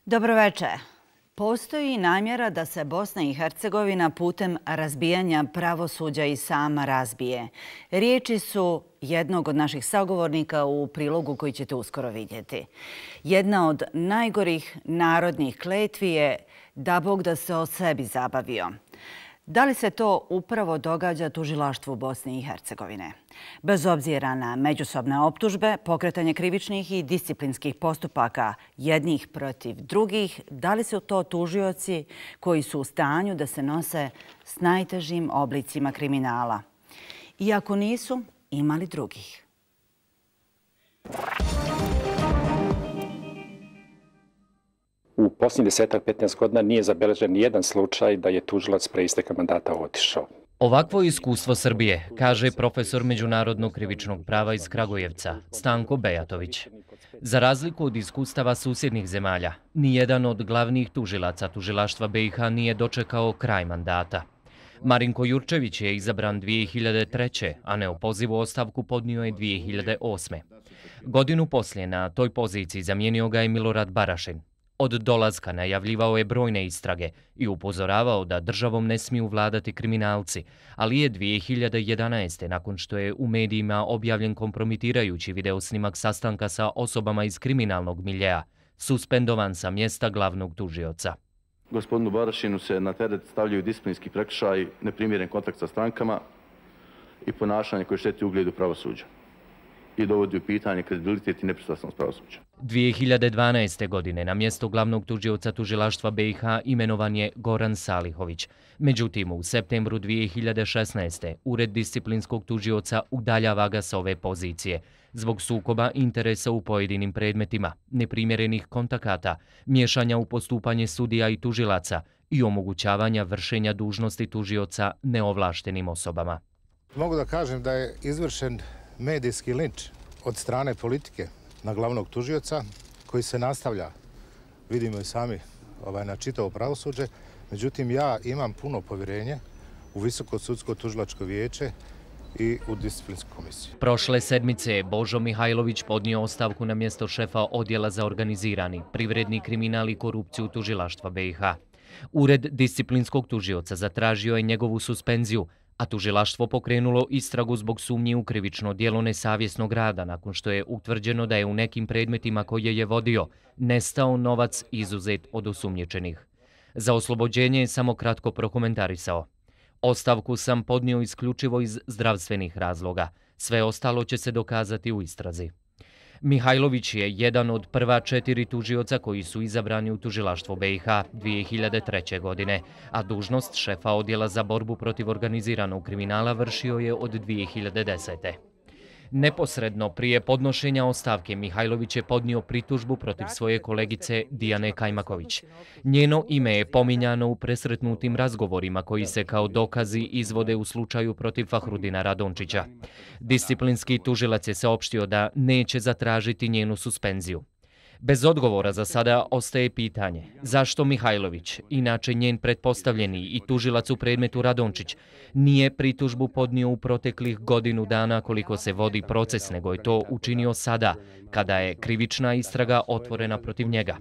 Dobroveče. Postoji namjera da se Bosna i Hercegovina putem razbijanja pravosuđa i sama razbije. Riječi su jednog od naših sagovornika u prilogu koji ćete uskoro vidjeti. Jedna od najgorih narodnih kletvi je da Bog da se o sebi zabavio. Da li se to upravo događa tužilaštvu Bosne i Hercegovine? Bez obzira na međusobne optužbe, pokretanje krivičnih i disciplinskih postupaka jednih protiv drugih, da li su to tužioci koji su u stanju da se nose s najtežim oblicima kriminala? Iako nisu, imali drugih. U posljednjih 10-15 godina nije zabeležen nijedan slučaj da je tužilac pre isteka mandata otišao. Ovakvo iskustvo Srbije, kaže profesor međunarodnog krivičnog prava iz Kragujevca, Stanko Bejatović. Za razliku od iskustava susjednih zemalja, nijedan od glavnih tužilaca tužilaštva BiH nije dočekao kraj mandata. Marinko Jurčević je izabran 2003. a neopozivu ostavku podnio je 2008. Godinu poslije na toj poziciji zamijenio ga je Milorad Barašin. Od dolaska najavljivao je brojne istrage i upozoravao da državom ne smiju vladati kriminalci, ali je 2011. nakon što je u medijima objavljen kompromitirajući videosnimak sastanka sa osobama iz kriminalnog miljea, suspendovan sa mjesta glavnog tužioca. Gospodinu Barašinu se na teret stavljaju disciplinski prekršaj, neprimjeren kontakt sa strankama i ponašanje koje šteti ugledu pravosuđa i dovodi u pitanje kredibilitet i nepristrasnost pravosuđa. 2012. godine na mjesto glavnog tužioca tužilaštva BiH imenovan je Goran Salihović. Međutim, u septembru 2016. Ured disciplinskog tužioca udaljava ga sa ove pozicije zbog sukoba interesa u pojedinim predmetima, neprimjerenih kontakata, miješanja u postupanje sudija i tužilaca i omogućavanja vršenja dužnosti tužioca neovlaštenim osobama. Mogu da kažem da je izvršen medijski linč od strane politike na glavnog tužioca koji se nastavlja, vidimo i sami, na čitavo pravosuđe. Međutim, ja imam puno povjerenje u Visoko sudsko tužilačko vijeće i u disciplinsku komisiju. Prošle sedmice je Božo Mihajlović podnio ostavku na mjesto šefa odjela za organizirani, privredni kriminal i korupciju tužilaštva BiH. Ured disciplinskog tužioca zatražio je njegovu suspenziju, a tužilaštvo pokrenulo istragu zbog sumnji u krivično djelo nesavjesnog rada nakon što je utvrđeno da je u nekim predmetima koje je vodio nestao novac izuzet od osumnjičenih. Za oslobođenje je samo kratko prokomentarisao. Ostavku sam podnio isključivo iz zdravstvenih razloga. Sve ostalo će se dokazati u istrazi. Mihajlović je jedan od prva 4 tužioca koji su izabrani u tužilaštvo BiH 2003. godine, a dužnost šefa odjela za borbu protiv organiziranog kriminala vršio je od 2010. Neposredno prije podnošenja ostavke Mihajlović je podnio pritužbu protiv svoje kolegice Dijane Kajmaković. Njeno ime je pominjano u presretnutim razgovorima koji se kao dokazi izvode u slučaju protiv Fahrudina Radončića. Disciplinski tužilac je saopštio da neće zatražiti njenu suspenziju. Bez odgovora za sada ostaje pitanje zašto Mihajlović, inače njen pretpostavljeni i tužilac u predmetu Radončić, nije pritužbu podnio u proteklih godinu dana koliko se vodi proces, nego je to učinio sada, kada je krivična istraga otvorena protiv njega.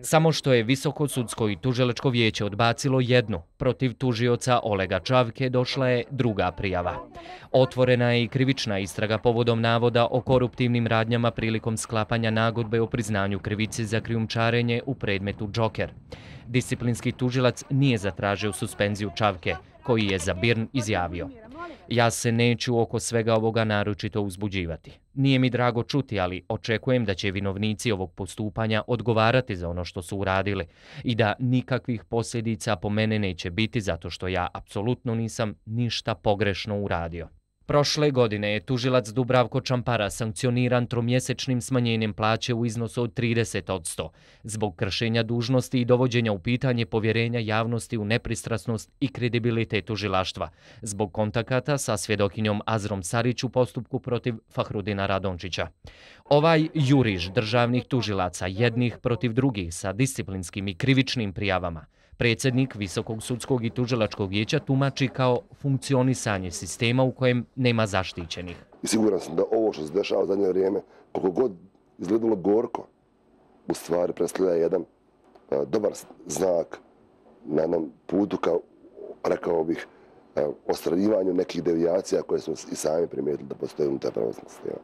Samo što je Visoko sudsko i tužilačko vijeće odbacilo jednu, protiv tužioca Olega Čavke došla je druga prijava. Otvorena je i krivična istraga povodom navoda o koruptivnim radnjama prilikom sklapanja nagodbe o priznanju krivice za krijumčarenje u predmetu Džoker. Disciplinski tužilac nije zatražio suspenziju Čavke, koji je za BIRN izjavio: "Ja se neću oko svega ovoga naročito uzbuđivati. Nije mi drago čuti, ali očekujem da će vinovnici ovog postupanja odgovarati za ono što su uradili i da nikakvih posljedica po mene neće biti zato što ja apsolutno nisam ništa pogrešno uradio." Prošle godine je tužilac Dubravko Čampara sankcioniran tromjesečnim smanjenjem plaće u iznosu od 30% zbog kršenja dužnosti i dovođenja u pitanje povjerenja javnosti u nepristrasnost i kredibilitet tužilaštva zbog kontakata sa svjedokinjom Azrom Sarić u postupku protiv Fahrudina Radončića. Ovaj juriš državnih tužilaca jednih protiv drugih sa disciplinskim i krivičnim prijavama predsjednik Visokog sudskog i tužilačkog vijeća tumači kao funkcionisanje sistema u kojem nema zaštićenih. I siguran sam da ovo što se dešava u zadnje vrijeme, koliko god izgledalo gorko, u stvari predstavlja jedan dobar znak na jednom putu kao, rekao bih, ostvarenju nekih devijacija koje smo i sami primijetili da postoje unutar pravosudnog sistema.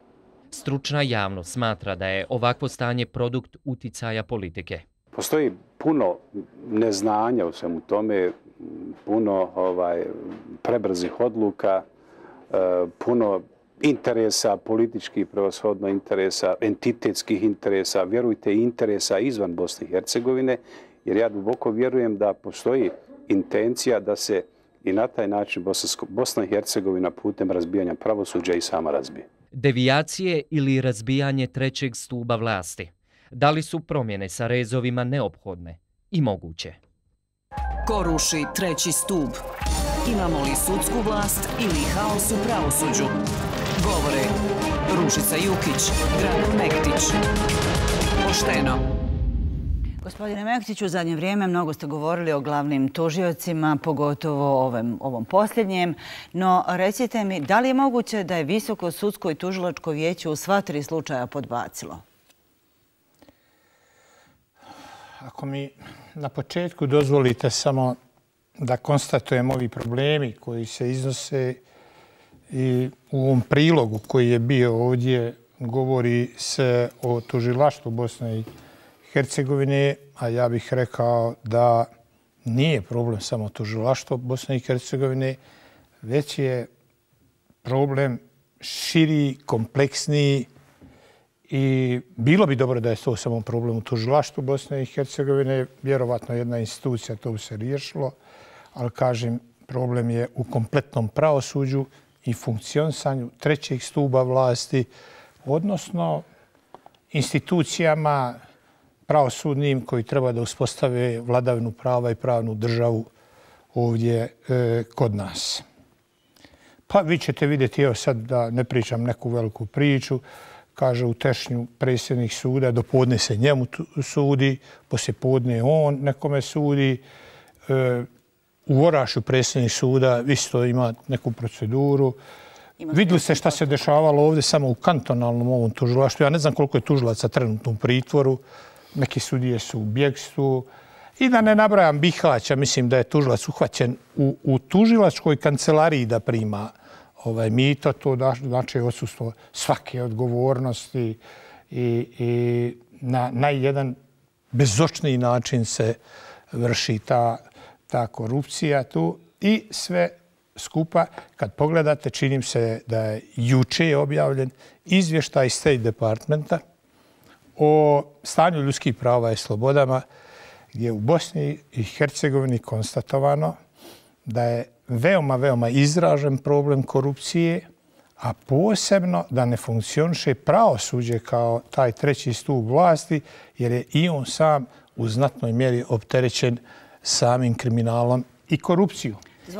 Stručna javnost smatra da je ovakvo stanje produkt uticaja politike. Postoji puno neznanja u svemu tome, puno prebrzih odluka, puno interesa, političkih prevashodno interesa, entitetskih interesa, vjerujte i interesa izvan Bosne i Hercegovine, jer ja duboko vjerujem da postoji intencija da se i na taj način Bosna i Hercegovina putem razbijanja pravosuđa i sama razbije. Devijacije ili razbijanje trećeg stuba vlasti. Da li su promjene sa rezovima neophodne i moguće? Ko ruši treći stup? Imamo li sudsku vlast ili haos u pravosuđu? Govore Ružica Jukić, Dragan Mektić. Pošteno. Gospodine Mektiću, u zadnje vrijeme mnogo ste govorili o glavnim tužiocima, pogotovo ovom posljednjem. No, recite mi, da li je moguće da je Visoko sudsko i tužilačko vijeće u sva 3 slučaja podbacilo? Ako mi na početku dozvolite samo da konstatujem ovi problemi koji se iznose i u ovom prilogu koji je bio ovdje govori se o tužilaštvu Bosne i Hercegovine, a ja bih rekao da nije problem samo tužilaštvo Bosne i Hercegovine, već je problem širi, kompleksniji i bilo bi dobro da je to samo problem u tužilaštvu Bosne i Hercegovine. Vjerovatno jedna institucija to bi se riješilo, ali kažem, problem je u kompletnom pravosuđu i funkcionisanju trećeg stuba vlasti, odnosno institucijama pravosudnim koji treba da uspostave vladavinu prava i pravnu državu ovdje kod nas. Pa vi ćete vidjeti, evo sad da ne pričam neku veliku priču, kaže u Tešnju predsjednik suda, dopodne se njemu sudi, poslijepodne on nekome sudi. U Orašju predsjednik suda isto ima neku proceduru. Vidjeli ste šta se dešavalo ovdje samo u kantonalnom ovom tužilaštvu. Ja ne znam koliko je tužilaca trenutno u pritvoru. Neki sudije su u bjegstvu. I da ne nabrajam Bihaća, mislim da je tužilac uhvaćen u tužilačkoj kancelariji da prima mito. To znači odsustvo svake odgovornosti i na jedan bezočniji način se vrši ta korupcija tu. I sve skupa, kad pogledate, činim se da je juče objavljen izvještaj State Departmenta o stanju ljudskih prava i slobodama, gdje je u Bosni i Hercegovini konstatovano da je veoma, veoma izražen problem korupcije, a posebno da ne funkcioniše pravosuđe kao taj treći stup vlasti, jer je i on sam u znatnoj mjeri opterećen samim kriminalom i korupcijom.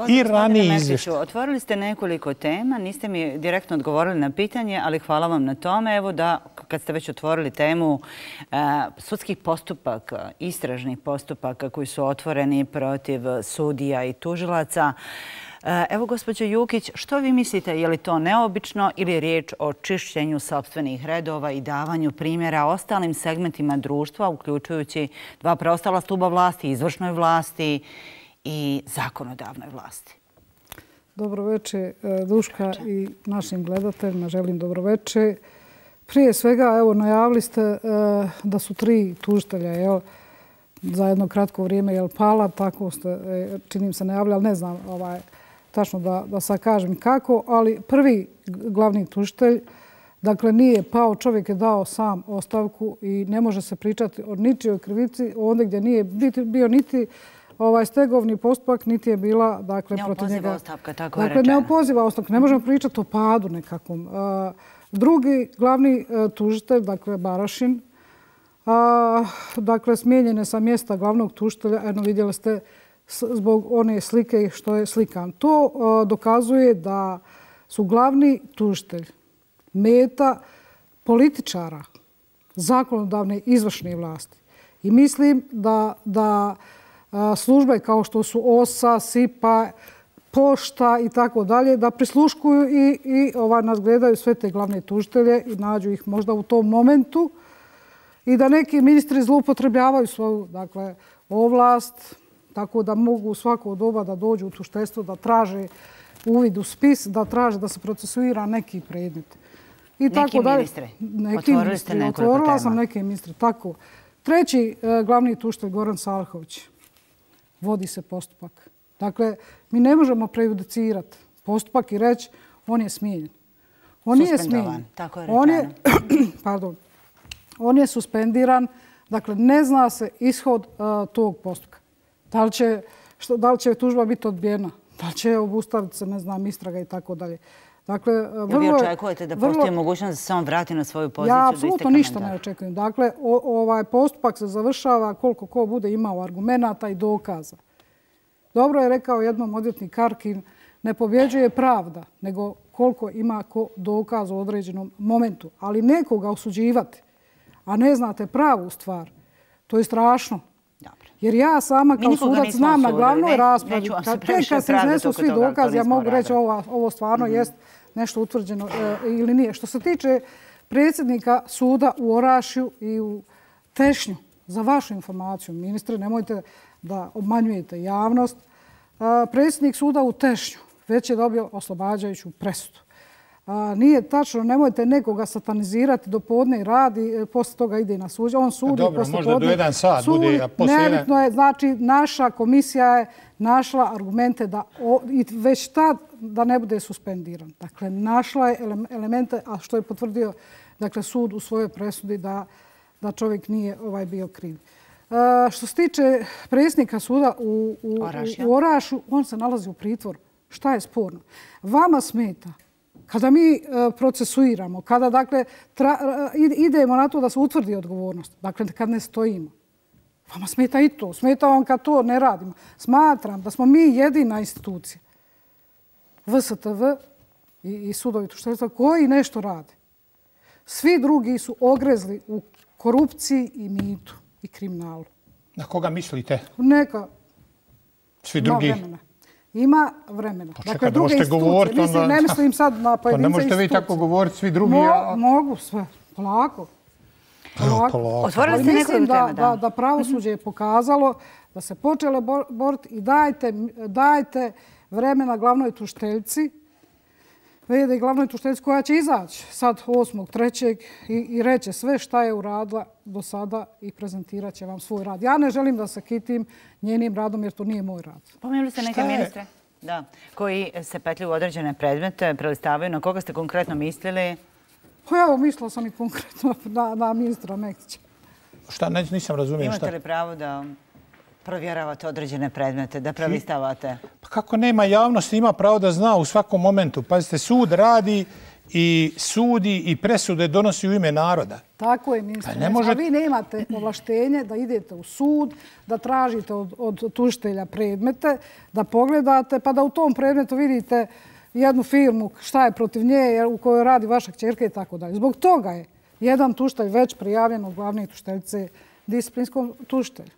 I ranije izvješće. Otvorili ste nekoliko tema, niste mi direktno odgovorili na pitanje, ali hvala vam na tome. Evo da, kad ste već otvorili temu sudskih postupaka, istražnih postupaka koji su otvoreni protiv sudija i tužilaca, evo, gospođo Jukić, što vi mislite, je li to neobično ili je riječ o čišćenju sopstvenih redova i davanju primjera ostalim segmentima društva, uključujući 2 preostala stuba vlasti, izvršnoj vlasti i zakonodavnoj vlasti? Dobroveče, Duška, i našim gledateljima želim dobroveče. Prije svega, evo, najavili ste da su 3 tužitelja za jedno kratko vrijeme pala, tako ste, činim se, najavili, ali ne znam tačno da sad kažem kako, ali prvi glavni tužitelj, dakle, nije pao, čovjek je dao sam ostavku i ne može se pričati o ničijoj krivici ovdje gdje nije bio niti stegovni postupak, niti je bila, dakle, protiv njega. Neopoziva ostavka, tako je rečeno. Dakle, neopoziva ostavka. Ne možemo pričati o padu nekakvom. Drugi glavni tužitelj, dakle, Barašin, dakle, smijenjen je sa mjesta glavnog tužitelja. Eno, vidjeli ste zbog one slike što je slikan. To dokazuje da su glavni tužitelj meta političara, zakonodavne izvršne vlasti. I mislim da službe kao što su OSA, SIPA, Pošta i tako dalje, da prisluškuju i nadgledaju sve te glavne tužitelje i nađu ih možda u tom momentu i da neki ministri zloupotrebljavaju svoju ovlast, tako da mogu u svako doba da dođu u tužiteljstvo, da traže uvid u spis, da traže da se procesuira neki predmet. Neki ministre? Otvorili ste nekoliko tema. Otvorila sam neke ministre, tako. Treći glavni tužitelj, Goran Salhović, vodi se postupak. Dakle, mi ne možemo prejudicirati postupak i reći on je smijenjen. On nije smijenjen. Tako je rečeno. Pardon. On je suspendiran. Dakle, ne zna se ishod tog postupka. Da li će tužba biti odbijena? Da li će obustaviti se, ne znam, istraga i tako dalje. Dakle, vi očekujete da postoji mogućnost da se on vrati na svoju poziciju? Ja apsolutno ništa ne očekujem. Dakle, ovaj postupak se završava koliko ko bude imao argumenata i dokaza. Dobro je rekao jednom odvjetnik Karkin, ne pobjeđuje pravda, nego koliko ima ko dokaz u određenom momentu. Ali nekoga osuđivati, a ne znate pravu stvar, to je strašno. Jer ja sama kao sudac znam na glavnoj raspravi, kad se iznesu svi dokazi, ja mogu reći ovo stvarno jest nešto utvrđeno ili nije. Što se tiče predsjednika suda u Orašju i u Tešnju, za vašu informaciju, ministre, nemojte da obmanjujete javnost, predsjednik suda u Tešnju već je dobio oslobađajuću presudu. Nije tačno, nemojte nekoga satanizirati, do podne radi, poslije toga ide na suđenje. On sudi, dobro, možda do 1 sat bude, a poslije... Nebitno je, znači, naša komisija je našla argumente da već tad da ne bude suspendiran. Dakle, našla je elemente, a što je potvrdio sud u svojoj presudi da čovjek nije bio kriv. Što se tiče predsjednika suda u Orašju, on se nalazi u pritvoru. Šta je sporno? Vama smeta kada mi procesuiramo, kada idemo na to da se utvrdi odgovornost, dakle kad ne stojimo. Vama smeta i to. Smeta vam kad to ne radimo. Smatram da smo mi jedina institucija, VSTV i sudovi tužiteljstva, koji nešto rade. Svi drugi su ogrezli u korupciji i mitu i kriminalu. Na koga mislite? Neka. Svi drugi? Ima vremena. Dakle, druge institucije. Ne mislim sad na pojedince institucije. Pa ne možete vi tako govoriti, svi drugi... Mogu sve. Polako. Otvorili ste nekoliko tema, da pravosuđe je pokazalo da se počelo boriti i dajte vremena glavnoj tužiteljci, vidi glavnoj tužiteljci koja će izaći sad 8.3. i reće sve šta je uradila do sada i prezentirat će vam svoj rad. Ja ne želim da se kitim njenim radom jer to nije moj rad. Pomenuli ste neke ministre koji se petljuju u određene predmete, prelistavaju. Na koga ste konkretno mislili? Evo, mislila sam i konkretno na ministra Mektića. Šta, nisam razumio šta. Imate li pravo da provjeravate određene predmete, da prelistavate? Pa kako nema javnosti, ima pravo da zna u svakom momentu. Pazite, sud radi i sudi i presude donosi u ime naroda. Tako je, ministre. A vi nemate ovlaštenje da idete u sud, da tražite od tužitelja predmete, da pogledate, pa da u tom predmetu vidite jednu firmu, šta je protiv nje, u kojoj radi vaša kćerka i tako dalje. Zbog toga je jedan tužitelj već prijavljen od glavne tužiteljice disciplinskom tužitelju.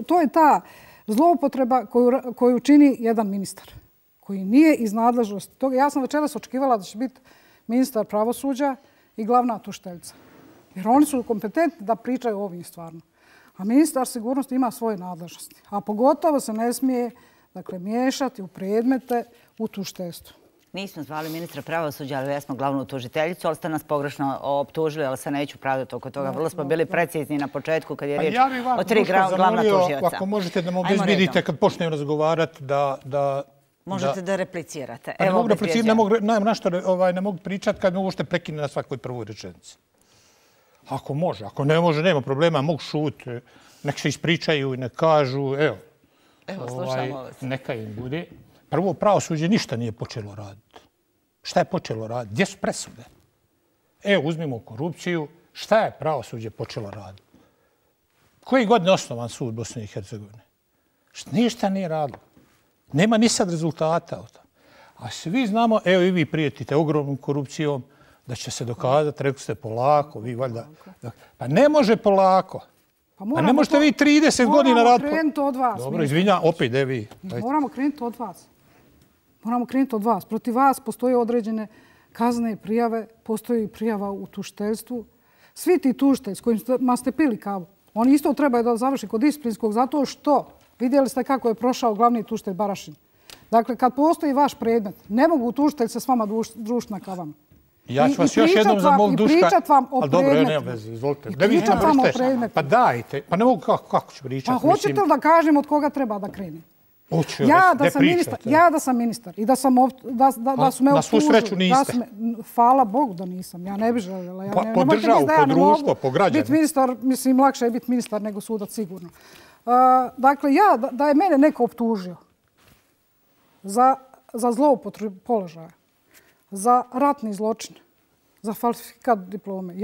To je ta zloupotreba koju čini jedan ministar, koji nije iz nadležnosti toga. Ja sam večeras očekivala da će biti ministar pravosuđa i glavna tužiteljica. Jer oni su kompetentni da pričaju o ovim stvarno. A ministar sigurnosti ima svoje nadležnosti. A pogotovo se ne smije miješati u predmete u tužiteljstvu. Nismo zvali ministra pravosuđa, ali jesmo glavnu tužiteljicu, ali ste nas pogrešno optužili, ali se neću pravdati oko toga. Vrlo smo bili precizni na početku kad je riječ o 3 glavna tužioca. Ako možete da me obezbedite kad počnem razgovarati da... Možete da replicirate. Ne mogu replicirati, ne mogu pričati kad me uopšte prekine na svakoj prvoj rečenici. Ako može, ako ne može, nema problema, mogu šuti, nek se ispričaju i nek kažu, evo, slušamo vas. Neka im bude. Prvo, pravosuđe ništa nije počelo raditi. Šta je počelo raditi? Gdje su presude? Evo, uzmimo korupciju. Šta je pravosuđe počelo raditi? Koji godine osnovan sud Bosne i Hercegovine? Ništa nije radilo. Nema ni sad rezultata. A svi znamo, evo i vi prijetite ogromnom korupcijom, da će se dokazati, rekli ste polako, vi valjda... Pa ne može polako. A ne možete vi 30 godina raditi... Moramo krenuti od vas. Dobro, izvinjam, opet je vi. Moramo krenuti od vas. Moramo krenuti od vas. Protiv vas postoje određene kaznene prijave, postoji prijava u tužiteljstvu. Svi ti tužitelji s kojima ste pili kavu, oni isto trebaju da završi kod disciplinskog zato što vidjeli ste kako je prošao glavni tužitelj Barašin. Dakle, kad postoji vaš predmet, ne mogu tužitelji se s vama družiti na kavama. Ja ću vas još jednom zamoliti, Duška. I pričat vam o predmetu. Ali dobro, nema veze, izvolite. I pričat vam o predmetu. Pa dajte, pa ne mogu kako ću pričati. Pa hoćete li da kažem od koga treba da krenem? Hoću, Ja da sam ministar i da su me optužili. Na svu sreću niste. Hvala Bogu da nisam, ja ne bih željela. Po državu, po društvo, po građane. Biti ministar, mislim, lakše je biti ministar nego sudac, sigurno. Dakle, da je mene neko optužio za zloupotrebu položaja, za ratni zločin, za falsifikat diplome.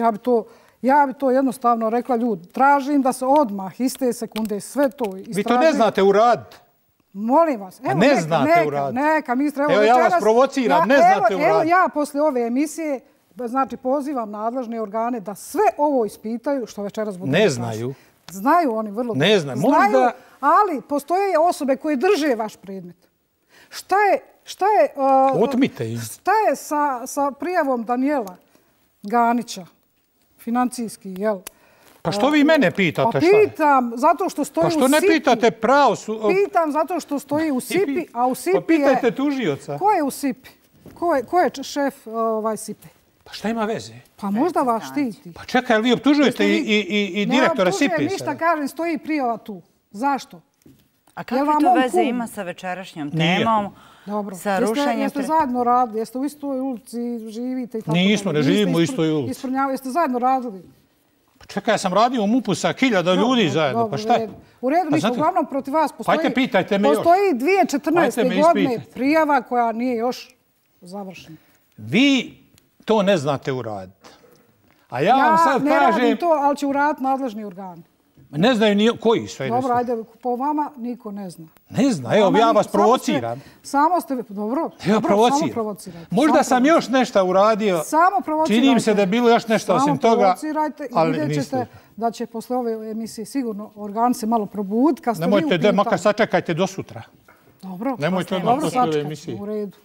Ja bi to jednostavno rekla, ljudi, tražim da se odmah, iste sekunde, sve to istražim. Vi to ne znate uraditi. Molim vas. Evo, ne znate uraditi. Neka, ministre. Evo, ja vas provociram, ne znate uraditi. Evo, ja poslije ove emisije, znači, pozivam nadležne organe da sve ovo ispitaju što večeras budu. Ne znaju. Znaju oni vrlo dobro. Ne znaju. Znaju, ali postoje osobe koje drže vaš predmet. Šta je otmite im. Šta je sa prijavom Danijela Ganića, financijski, jel? Pa što vi mene pitate? Pa pitam, zato što stoji u SIP-i. Pa što ne pitate pravo? Pitam zato što stoji u SIP-i, a u SIP-i je... Pa pitajte tužioca. Ko je u SIP-i? Ko je šef SIP-i? Pa šta ima veze? Pa možda vas štiti. Pa čekaj, vi optužujete i direktora SIP-i? Ne optužujem ništa, kažem, stoji prijava tu. Zašto? A kakve to veze ima sa večerašnjom temom? Dobro. Sa rušenjem... Jeste zajedno radili? Jeste u istoj ulici, živite i tako? Nismo, ne živimo u istoj ulici. Jeste zajedno radili? Pa čekaj, ja sam radio u MUP-u sa 1000 ljudi zajedno. Pa šta je? U redu, mi uglavnom protiv vas postoji... Pajte, pitajte me još. Postoji 2014. godine prijava koja nije još završena. Vi to ne znate uraditi. A ja vam sad kažem... Ja ne radim to, ali će uraditi nadležni organi. Ne znaju koji sve. Dobro, ajde, po vama niko ne zna. Ne zna, evo, ja vas provociram. Samo ste, dobro, samo provocirajte. Možda sam još nešto uradio. Samo provocirajte. Čini mi se da je bilo još nešto osim toga. Samo provocirajte i vidjet ćete da će posle ove emisije sigurno organ se malo probuditi. Nemojte, makar sačekajte do sutra. Dobro, nemojte odmah posle ove emisije. U redu.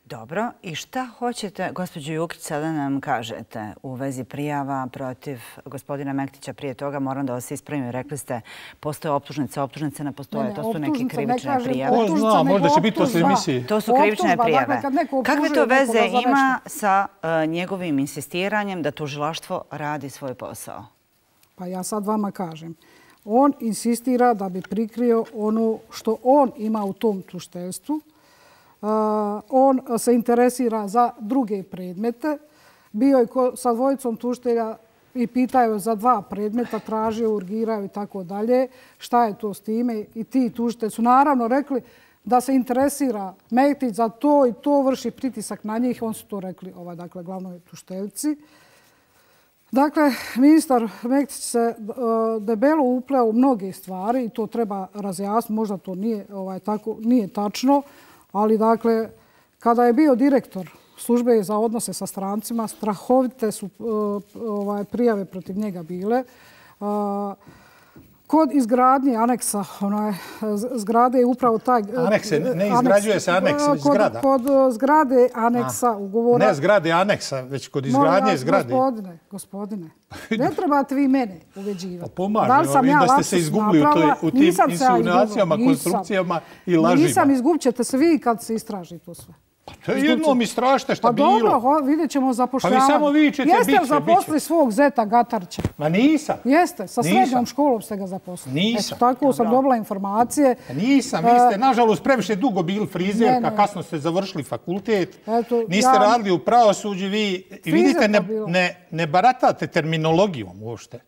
Dobro, i šta hoćete, gospođo Jukić, sada nam kažete u vezi prijava protiv gospodina Mektića? Prije toga moram da vas ispravim. Rekli ste, postoje optužnice, optužnice ne postoje. To su neke krivične prijave. Zna, možda će biti posle emisije. To su krivične prijave. Kakve to veze ima sa njegovim insistiranjem da tužilaštvo radi svoj posao? Pa ja sad vama kažem. On insistira da bi prikrio ono što on ima u tom tužiteljstvu. On se interesira za druge predmete. Bio je sa dvojicom tužitelja i pitaju za 2 predmeta, tražio, urgiraju i tako dalje. Šta je to s time? I ti tužitelji su naravno rekli da se interesira Mektić za to i to, vrši pritisak na njih. On su to rekli, dakle, glavnoj tužiteljci. Dakle, ministar Mektić se debelo upleo u mnoge stvari i to treba razjasniti. Možda to nije tačno. Ali, dakle, kada je bio direktor službe za odnose sa strancima, strahovite su prijave protiv njega bile. Kod izgradnje aneksa, zgrade je upravo taj... Anekse, ne izgrađuje se aneks, već zgrada. Kod zgrade aneksa ugovora... Ne zgrade aneksa, već kod izgradnje zgrade. Gospodine, ne trebate vi mene uveđivati. Pomažem, vidim da ste se izgubili u tim insinuacijama, konstrukcijama i lažima. Nisam, izgubit ćete se vi kad se istraži to sve. To je jednom istražite šta bilo. Pa dobro, vidjet ćemo zapošljavanje. Pa vi samo vičete, jeste li zaposlili svog zeta Gatarića? Ma nisam. Jeste, sa srednjom školom ste ga zaposlili. Nisam. Tako sam dobila informacije. Nisam, vi ste nažalost previše dugo bili frizerka, kasno ste završili fakultet, niste radili u pravosuđu, vi vidite ne baratate terminologijom uopšte.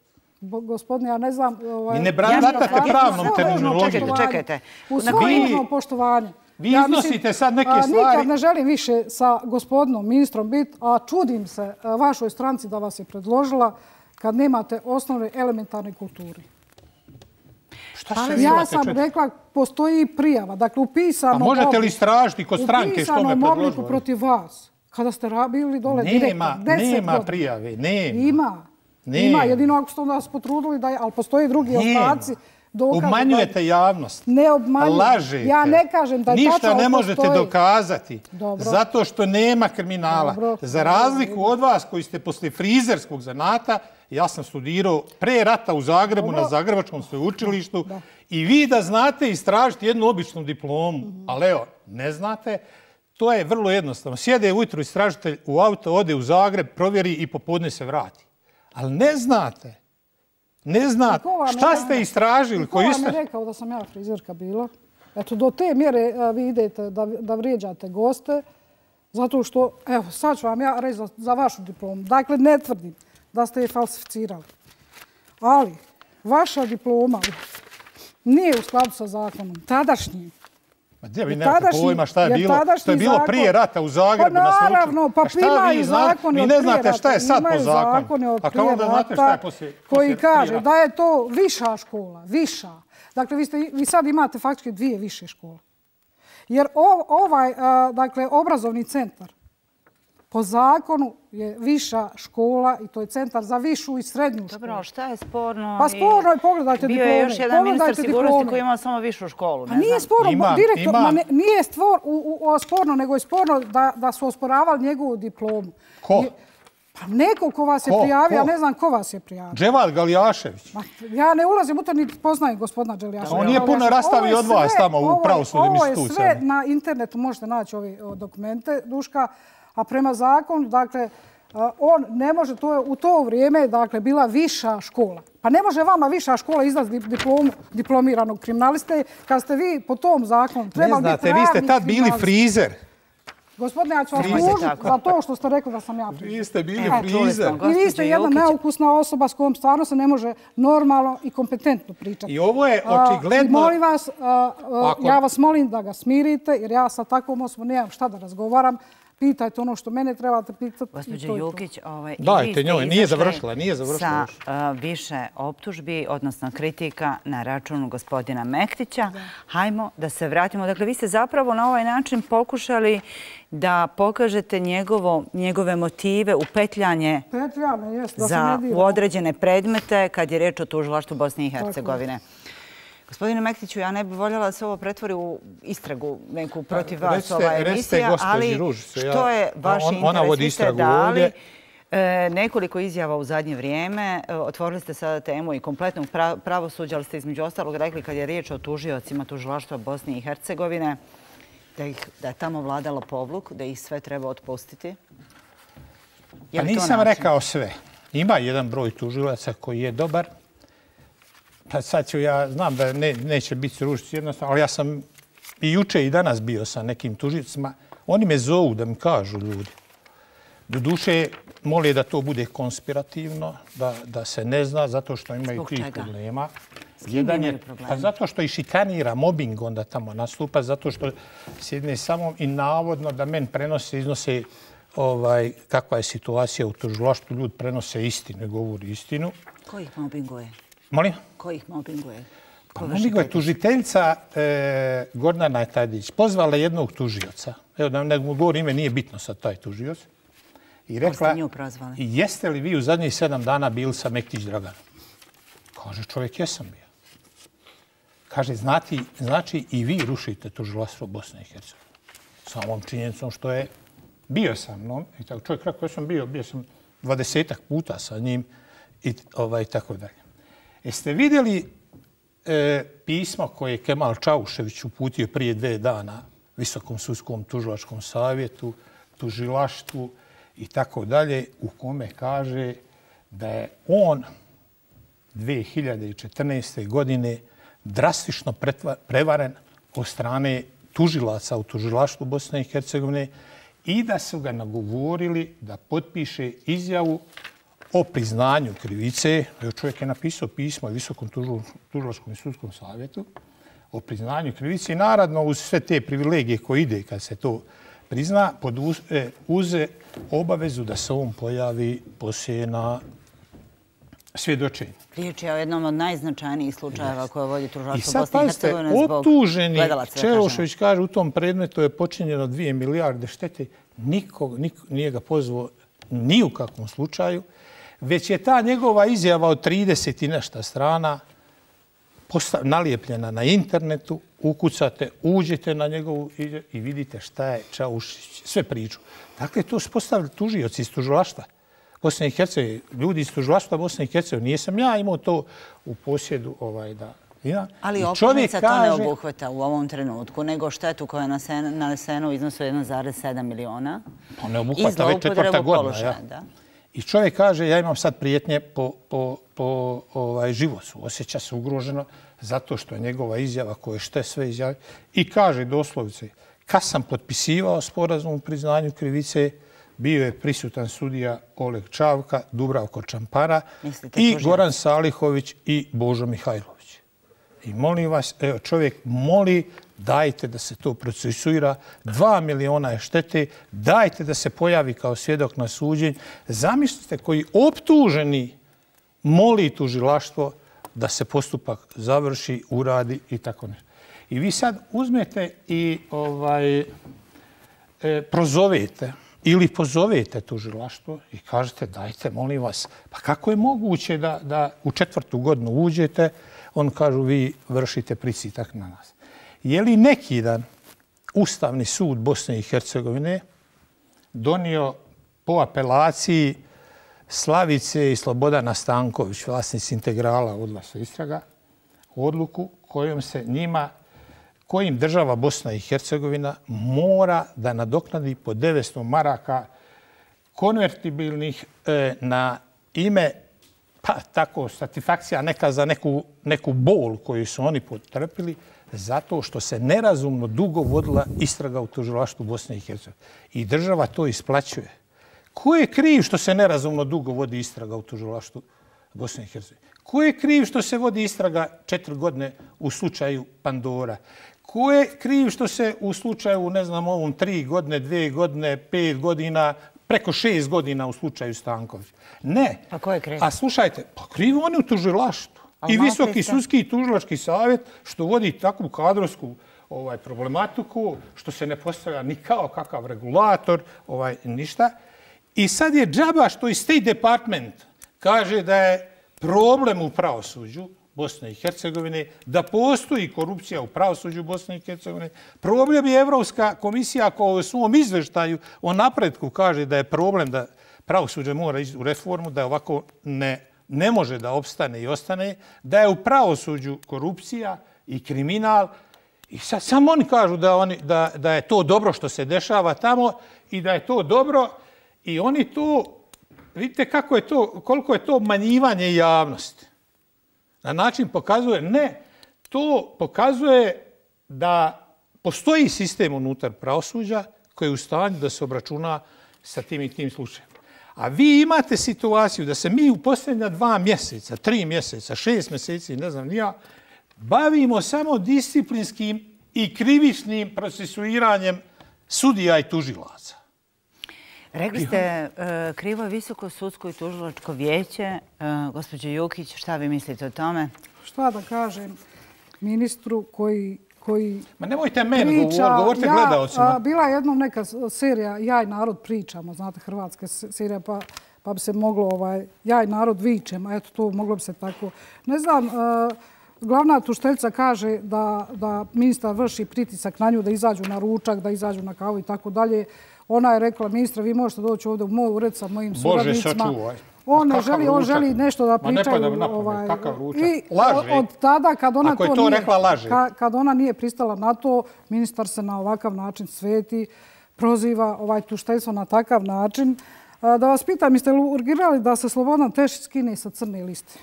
Gospodine, ja ne znam... Vi ne baratate pravnom terminologijom. Čekajte. U svoje poštovanje. Vi iznosite sad neke stvari... Nikad ne želim više sa gospodinom ministrom biti, a čudim se vašoj stranci da vas je predložila kad nemate osnovne elementarne kulturi. Ja sam rekla, postoji prijava, dakle u pisanom obliku... A možete li istražiti kod stranke što me predložila? U pisanom obliku protiv vas, kada ste bili dole direktor, 10 godina. Nema prijave, nema. Ima, jedino ako ste nas potrudili, ali postoje drugi ostaci dokaze. Obmanjujete javnost. Ne obmanjujem. Lažete. Ja ne kažem da je tačno. Ništa ne možete dokazati. Dobro. Zato što nema kriminala. Dobro. Za razliku od vas koji ste posle frizerskog zanata, ja sam studirao pre rata u Zagrebu na Zagrebačkom sveučilištu i vi da znate istražiti jednu običnu diplomu, ali evo, ne znate, to je vrlo jednostavno. Sjede ujutro istražitelj u auto, ode u Zagreb, provjeri i popodne se vrati. Ali ne znate. Ne znate. Šta ste istražili? Ko vam je rekao da sam ja frizerka bila? Eto, do te mjere vi idete da vrijeđate goste, zato što, evo, sad ću vam ja reći za vašu diplomu. Dakle, ne tvrdim da ste je falsificirali. Ali, vaša diploma nije u skladu sa zakonom. Tadašnji. Ma gdje vi nemate pojma šta je bilo? To je bilo prije rata u Zagrebu na sveučilištu. Pa naravno, pa imaju zakoni od prije rata. Vi ne znate šta je sad po zakonu. Imaju zakoni od prije rata koji kaže da je to viša škola. Viša. Dakle, vi sad imate faktički 2 više škole. Jer ovaj, dakle, obrazovni centar po zakonu je viša škola i to je centar za višu i srednju školu. Dobro, šta je sporno? Pa sporno je, pogledajte diplome. Bio je još jedan ministar sigurnosti koji ima samo višu školu. A nije sporno, direktor, nije sporno, nego je sporno da su osporavali njegovu diplomu. Ko? Pa neko ko vas je prijavio, ja ne znam ko vas je prijavio. Dževad Galjašević. Ja ne ulazim u to, niti poznajem gospodina Galjaševića. On nije puno rastavio od vas tamo u pravosudnim institucijama. Ovo je sve na internetu, možete naći ove dokumente, Duška. A prema zakonu, dakle, on ne može, to je u to vrijeme, dakle, bila viša škola. Pa ne može vama viša škola izdati diplomu diplomiranog kriminaliste kad ste vi po tom zakonu trebali biti pravni kriminalist. Vi ste tad bili frizer. Gospodine, ja ću vas tužiti za to što ste rekli da sam ja frizer. Vi ste bili frizer. I vi ste jedna neukusna osoba s kojom stvarno se ne može normalno i kompetentno pričati. I ovo je očigledno... Molim vas, ja vas molim da ga smirite, jer ja sa takvom osobom nemam šta da razgovaram. Pitajte ono što mene trebate pitati. Gospođo Jukić, dajte njoj, nije završila. Sa više optužbi, odnosno kritika na račun gospodina Mektića. Hajmo da se vratimo. Dakle, vi ste zapravo na ovaj način pokušali da pokažete njegove motive, upetljanje u određene predmete kad je reč o tužilaštvu Bosne i Hercegovine. Gospodine Mektiću, ja ne bih voljela da se ovo pretvori u istragu neku protiv vas, ova emisija, ali što je vaš interes? Vi ste dali nekoliko izjava u zadnje vrijeme. Otvorili ste sada temu i kompletnog pravosuđa, ali ste između ostalog rekli kad je riječ o tužiocima tužilaštva Bosne i Hercegovine, da je tamo vladalo povluk, da ih sve treba otpustiti. Pa nisam rekao sve. Ima jedan broj tužilaca koji je dobar. Pa sad ću, ja znam da neće biti ružici jednostavno, ali ja sam i juče i danas bio sa nekim tužicima. Oni me zovu da mi kažu ljudi. Doduše, mole da to bude konspirativno, da se ne zna, zato što imaju tih problema. S kim imaju problema? Pa zato što i šikanira, mobbing onda tamo nastupa, zato što sjedne samo i navodno da men prenose, iznose kakva je situacija u tužilaštvu, ljudi prenose istinu i govori istinu. Ko ih mobbinguje? Molim? Ko ih mobbinguje? Pa mobbinguje tužiteljca Gordana Tadić. Pozvala jednog tužioca. Evo da ne govorim ime, nije bitno sad taj tužioc. I rekla, jeste li vi u zadnjih 7 dana bili sa Mektić Draganom? Kaže čovjek, jesam bio. Kaže, znači i vi rušite tužilaštvo Bosne i Hercegovine. Samom činjenicom što je bio sa mnom. I tako čovjek rekao, ja sam bio sam 20 puta sa njim i tako dalje. Jeste vidjeli pismo koje je Kemal Čaušević uputio prije 2 dana Visokom sudskom tužilačkom savjetu, tužilaštvu i tako dalje, u kome kaže da je on 2014. godine drastično prevaren od strane tužilaca u tužilaštvu Bosne i Hercegovine i da su ga nagovorili da potpiše izjavu o priznanju krivice. Čovjek je napisao pismo Visokom tužilačkom i sudskom savjetu o priznanju krivice i naravno uz sve te privilegije koje ide kad se to prizna, uze obavezu da se on pojavi poslije na svjedočenju. Riječ je o jednom od najznačajnijih slučajeva koje vodi tužilaštvo Bosne i Hercegovine zbog gledalaca. I sad pazite, optuženi Čelošević kaže u tom predmetu je počinjeno 2 milijarde štete. Niko nije ga pozvao ni u kakvom slučaju. Već je ta njegova izjava od 30 i nešto strana nalijepljena na internetu, ukucate, uđete na njegovu i vidite šta je Čaušić, sve priču. Dakle, to su postavili tužioci iz tužilaštva Bosne i Hercegovine, ljudi iz tužilaštva Bosne i Hercegovine. Nisam ja imao to u posjedu da... Ali optužnica to ne obuhvata u ovom trenutku, nego štetu koja je nanesena u iznosu 1,7 miliona. Pa ne obuhvata već 4. godina. I čovjek kaže, ja imam sad prijetnje po životu. Osjeća se ugroženo zato što je njegova izjava koja šte sve izjave. I kaže doslovce, kad sam potpisivao sporazum o priznanju krivice, bio je prisutan sudija Oleg Čavka, Dubravko Čampara i Goran Salihović i Božo Mihajlović. I molim vas, evo čovjek moli, dajte da se to procesuira, 2 miliona je štete, dajte da se pojavi kao svjedok na suđenju. Zamislite koji optuženi moli tužilaštvo da se postupak završi, uradi i tako nešto. I vi sad uzmete i prozovete ili pozovete tužilaštvo i kažete dajte, molim vas, pa kako je moguće da u 4. godinu uđete, on kažu vi vršite pritisak na nas. Je li neki dan Ustavni sud Bosne i Hercegovine donio po apelaciji Slavice i Slobodana Stanković, vlasnici Integrala odlasa istraga, odluku kojim država Bosna i Hercegovina mora da nadoknadi po 900 maraka konvertibilnih na ime, pa tako, satisfakcija neka za neku bol koju su oni potrpili, zato što se nerazumno dugo vodila istraga u tužilaštvu Bosne i Hercegovine. I država to isplaćuje. Ko je kriv što se nerazumno dugo vodi istraga u tužilaštvu Bosne i Hercegovine? Ko je kriv što se vodi istraga 4 godine u slučaju Pandora? Ko je kriv što se u slučaju, ne znam, ovom 3 godine, 2 godine, 5 godina, preko 6 godina u slučaju Stanković? Ne. A ko je kriv? A slušajte, pa kriv oni u tužilaštvu. I Visoki sudski i tužilački savjet što vodi takvu kadrovsku problematiku, što se ne postavlja ni kao kakav regulator, ništa. I sad je džaba što i State Department kaže da je problem u pravosuđu Bosne i Hercegovine, da postoji korupcija u pravosuđu Bosne i Hercegovine. Problem je Evropska komisija koja u svom izveštaju o napretku kaže da je problem da pravosuđe mora ići u reformu, da je ovako ne može da opstane i ostane, da je u pravosuđu korupcija i kriminal. I sad samo oni kažu da je to dobro što se dešava tamo i da je to dobro i oni to, vidite koliko je to obmanjivanje javnosti. Na način pokazuje, to pokazuje da postoji sistem unutar pravosuđa koji je u stanju da se obračuna sa tim i tim slučajem. A vi imate situaciju da se mi u posljednja 2 mjeseca, 3 mjeseca, 6 mjeseci, ne znam ni ja, bavimo samo disciplinskim i krivičnim procesuiranjem sudija i tužilaca. Rekli ste krivo je Visoko sudsko i tužilačko vijeće. Gospođo Jukić, šta vi mislite o tome? Šta da kažem ministru koji Ma nemojte meni govorite gledalcima. Bila je jednom neka serija Ja i narod pričamo, znate, hrvatska serija, pa bi se moglo Ja i narod vičemo, eto to moglo bi se tako. Ne znam, glavna tužiteljica kaže da ministar vrši pritisak na nju da izađu na ručak, da izađu na kavu i tako dalje. Ona je rekla, ministra, vi možete doći ovdje u moj ured sa mojim suradnicima. Bože, sačuvaj. On želi nešto da pričaju. Ma ne pada na pamet, kakav ručak. Laže. Od tada, ako je to rekla, laže. Kad ona nije pristala na to, ministar se na ovakav način sveti, proziva tužiteljstvo na takav način. Da vas pitam, jeste li urgirali da se Slobodan Tešić skine sa crne liste?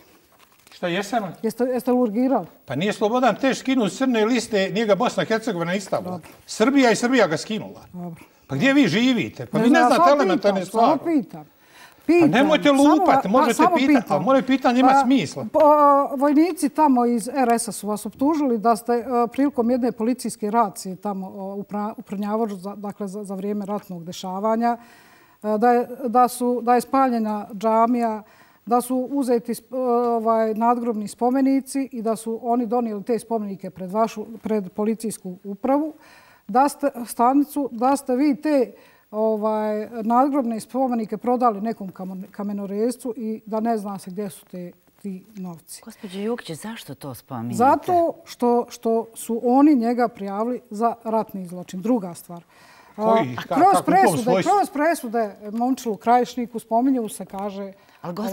Šta, jesam? Jeste li urgirali? Pa nije Slobodan Tešić skinuo s crne liste, nije ga Bosna i Hercegovina istavila. Srbija ga skinula. Dobro. Pa gdje vi živite? Pa vi ne znate elementarne stvari. Samo pitam. Pa nemojte lupati, možete pitati, ali moje pitanje ima smisla. Vojnici tamo iz RS-a su vas optužili da ste prilikom jedne policijske racije tamo u Prnjavoru, dakle za vrijeme ratnog dešavanja, da je spaljena džamija, da su uzeti nadgrobni spomenici i da su oni donijeli te spomenike pred policijsku upravu, da ste vi te nadgrobne spomenike prodali nekom kamenorezcu i da ne zna se gdje su ti ti novci. Gospođo Jukić, zašto to spominjete? Zato što su oni njega prijavili za ratni zločin. Druga stvar. Kroz presude Momčilu Krajišniku spominju se, kaže,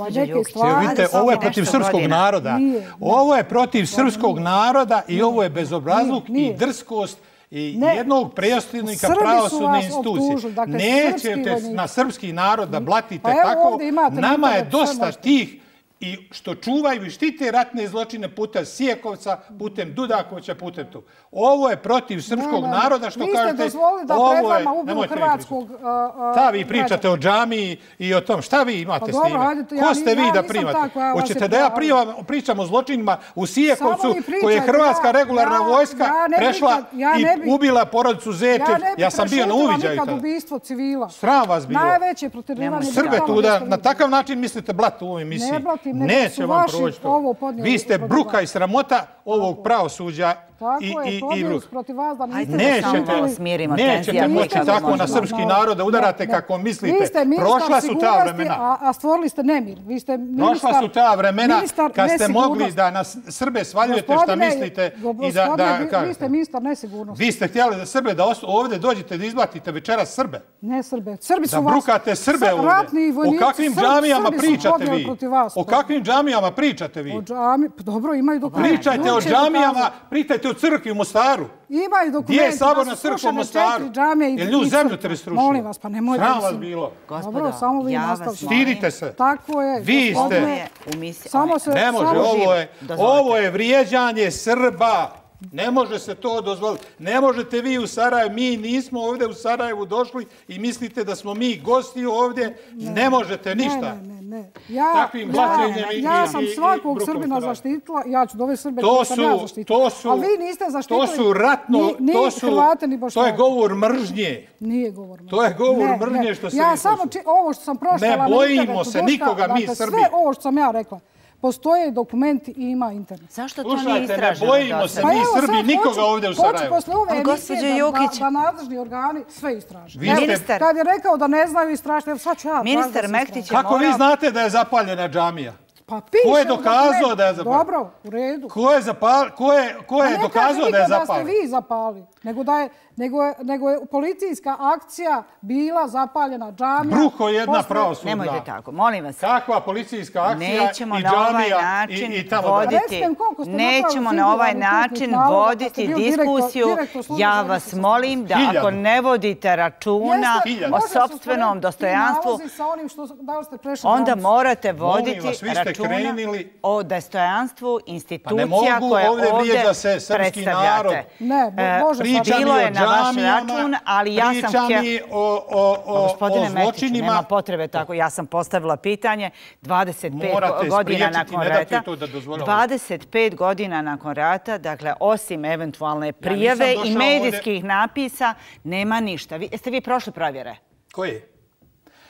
neke stvari. Vidite, ovo je protiv srpskog naroda. Ovo je protiv srpskog naroda i ovo je bezobrazluk i drskost i jednog predsjednika pravosudne institucije. Nećete na srpski narod da blatite tako. Nama je dosta tih i što čuvaju i štite ratne zločine putem Sijekovca, putem Dudakovića, putem tu. Ovo je protiv srpskog naroda, što kažete... Vi ste dozvolili da pred vama ubiru hrvatskog... Šta vi pričate o džamiji i o tom? Šta vi imate s time? Ko ste vi da primate? Hoćete da ja pričam o zločinima u Sijekovcu, koje je hrvatska regularna vojska prešla i ubila porodicu Zečev? Ja sam bio na uviđaju tada. Ubistvo civila. Sram vas bilo. Najveće proterivanje... Srbe tu da na takav način mislite blati u ovoj emisiji. Neće vam proći to. Vi ste bruka i sramota ovog pravosuđa i bruka. Nećete moći tako na srpski narod da udarate kako mislite. Prošla su ta vremena. A stvorili ste nemir. Prošla su ta vremena kad ste mogli da na Srbe svaljujete šta mislite. Vi ste ministar nesigurnosti. Vi ste htjeli da Srbe da ovdje dođete da izblatite večeras Srbe. Ne Srbe. Srbi su vas... Da brukate Srbe ovdje. O kakvim džamijama pričate vi? O kakvim džamijama pričate vi? Dobro, imaju dokumenti. Pričajte o džamijama, pričajte o crkvi u Mostaru. Imaju dokumenti. Gdje je saborna crkva u Mostaru? Jer nju zemlju te srušio. Molim vas, pa nemojte... Sram vas bilo. Dobro, samo vi nastavite. Stidite se. Tako je. Vi ste. Ne može, ovo je vrijeđanje Srba. Ne može se to dozvoliti. Ne možete vi u Sarajevu, mi nismo ovdje u Sarajevu došli i mislite da smo mi gosti ovdje. Ne možete ništa. Takvim blaćenjem i ja sam svakog Srbina zaštitila, ja ću dove Srbe koji sam ja zaštitila. Ali vi niste zaštitili ni Hrvate, ni Bošnjake. To je govor mržnje. Nije govor mržnje. To je govor mržnje što se vi Ja samo ovo što sam prošla... Ne bojimo se nikoga mi Srbi. Sve ovo što sam ja rekla. Postoje dokumenti i ima internet. Zašto to nije istraženo? Ne bojimo se mi Srbi nikoga ovdje u Sarajevu. Hoću posle ove emisije da nadležni organi sve istraže. Kad je rekao da ne znaju istražiti, sad ću ja... Ministar Mektić je morao... Kako vi znate da je zapaljena džamija? Pa piše... Ko je dokazao da je zapaljena? Dobro, u redu. Ko je dokazao da je zapaljena? Ne kažem da ste vi zapali, nego je policijska akcija bila zapaljena džamija. Bruko jedna pravosudna. Nemojte tako, molim vas. Kakva policijska akcija i džamija i tamo... Nećemo na ovaj način voditi diskusiju. Ja vas molim da ako ne vodite računa o sopstvenom dostojanstvu, onda morate voditi računa o dostojanstvu institucija koje ovdje predstavljate. Bilo je na vaš račun, ali ja sam htjela... Gospodine Mektiću, nema potrebe tako. Ja sam postavila pitanje 25 godina nakon rata. 25 godina nakon rata, dakle, osim eventualne prijave i medijskih napisa, nema ništa. Jeste vi prošli provjere? Koje?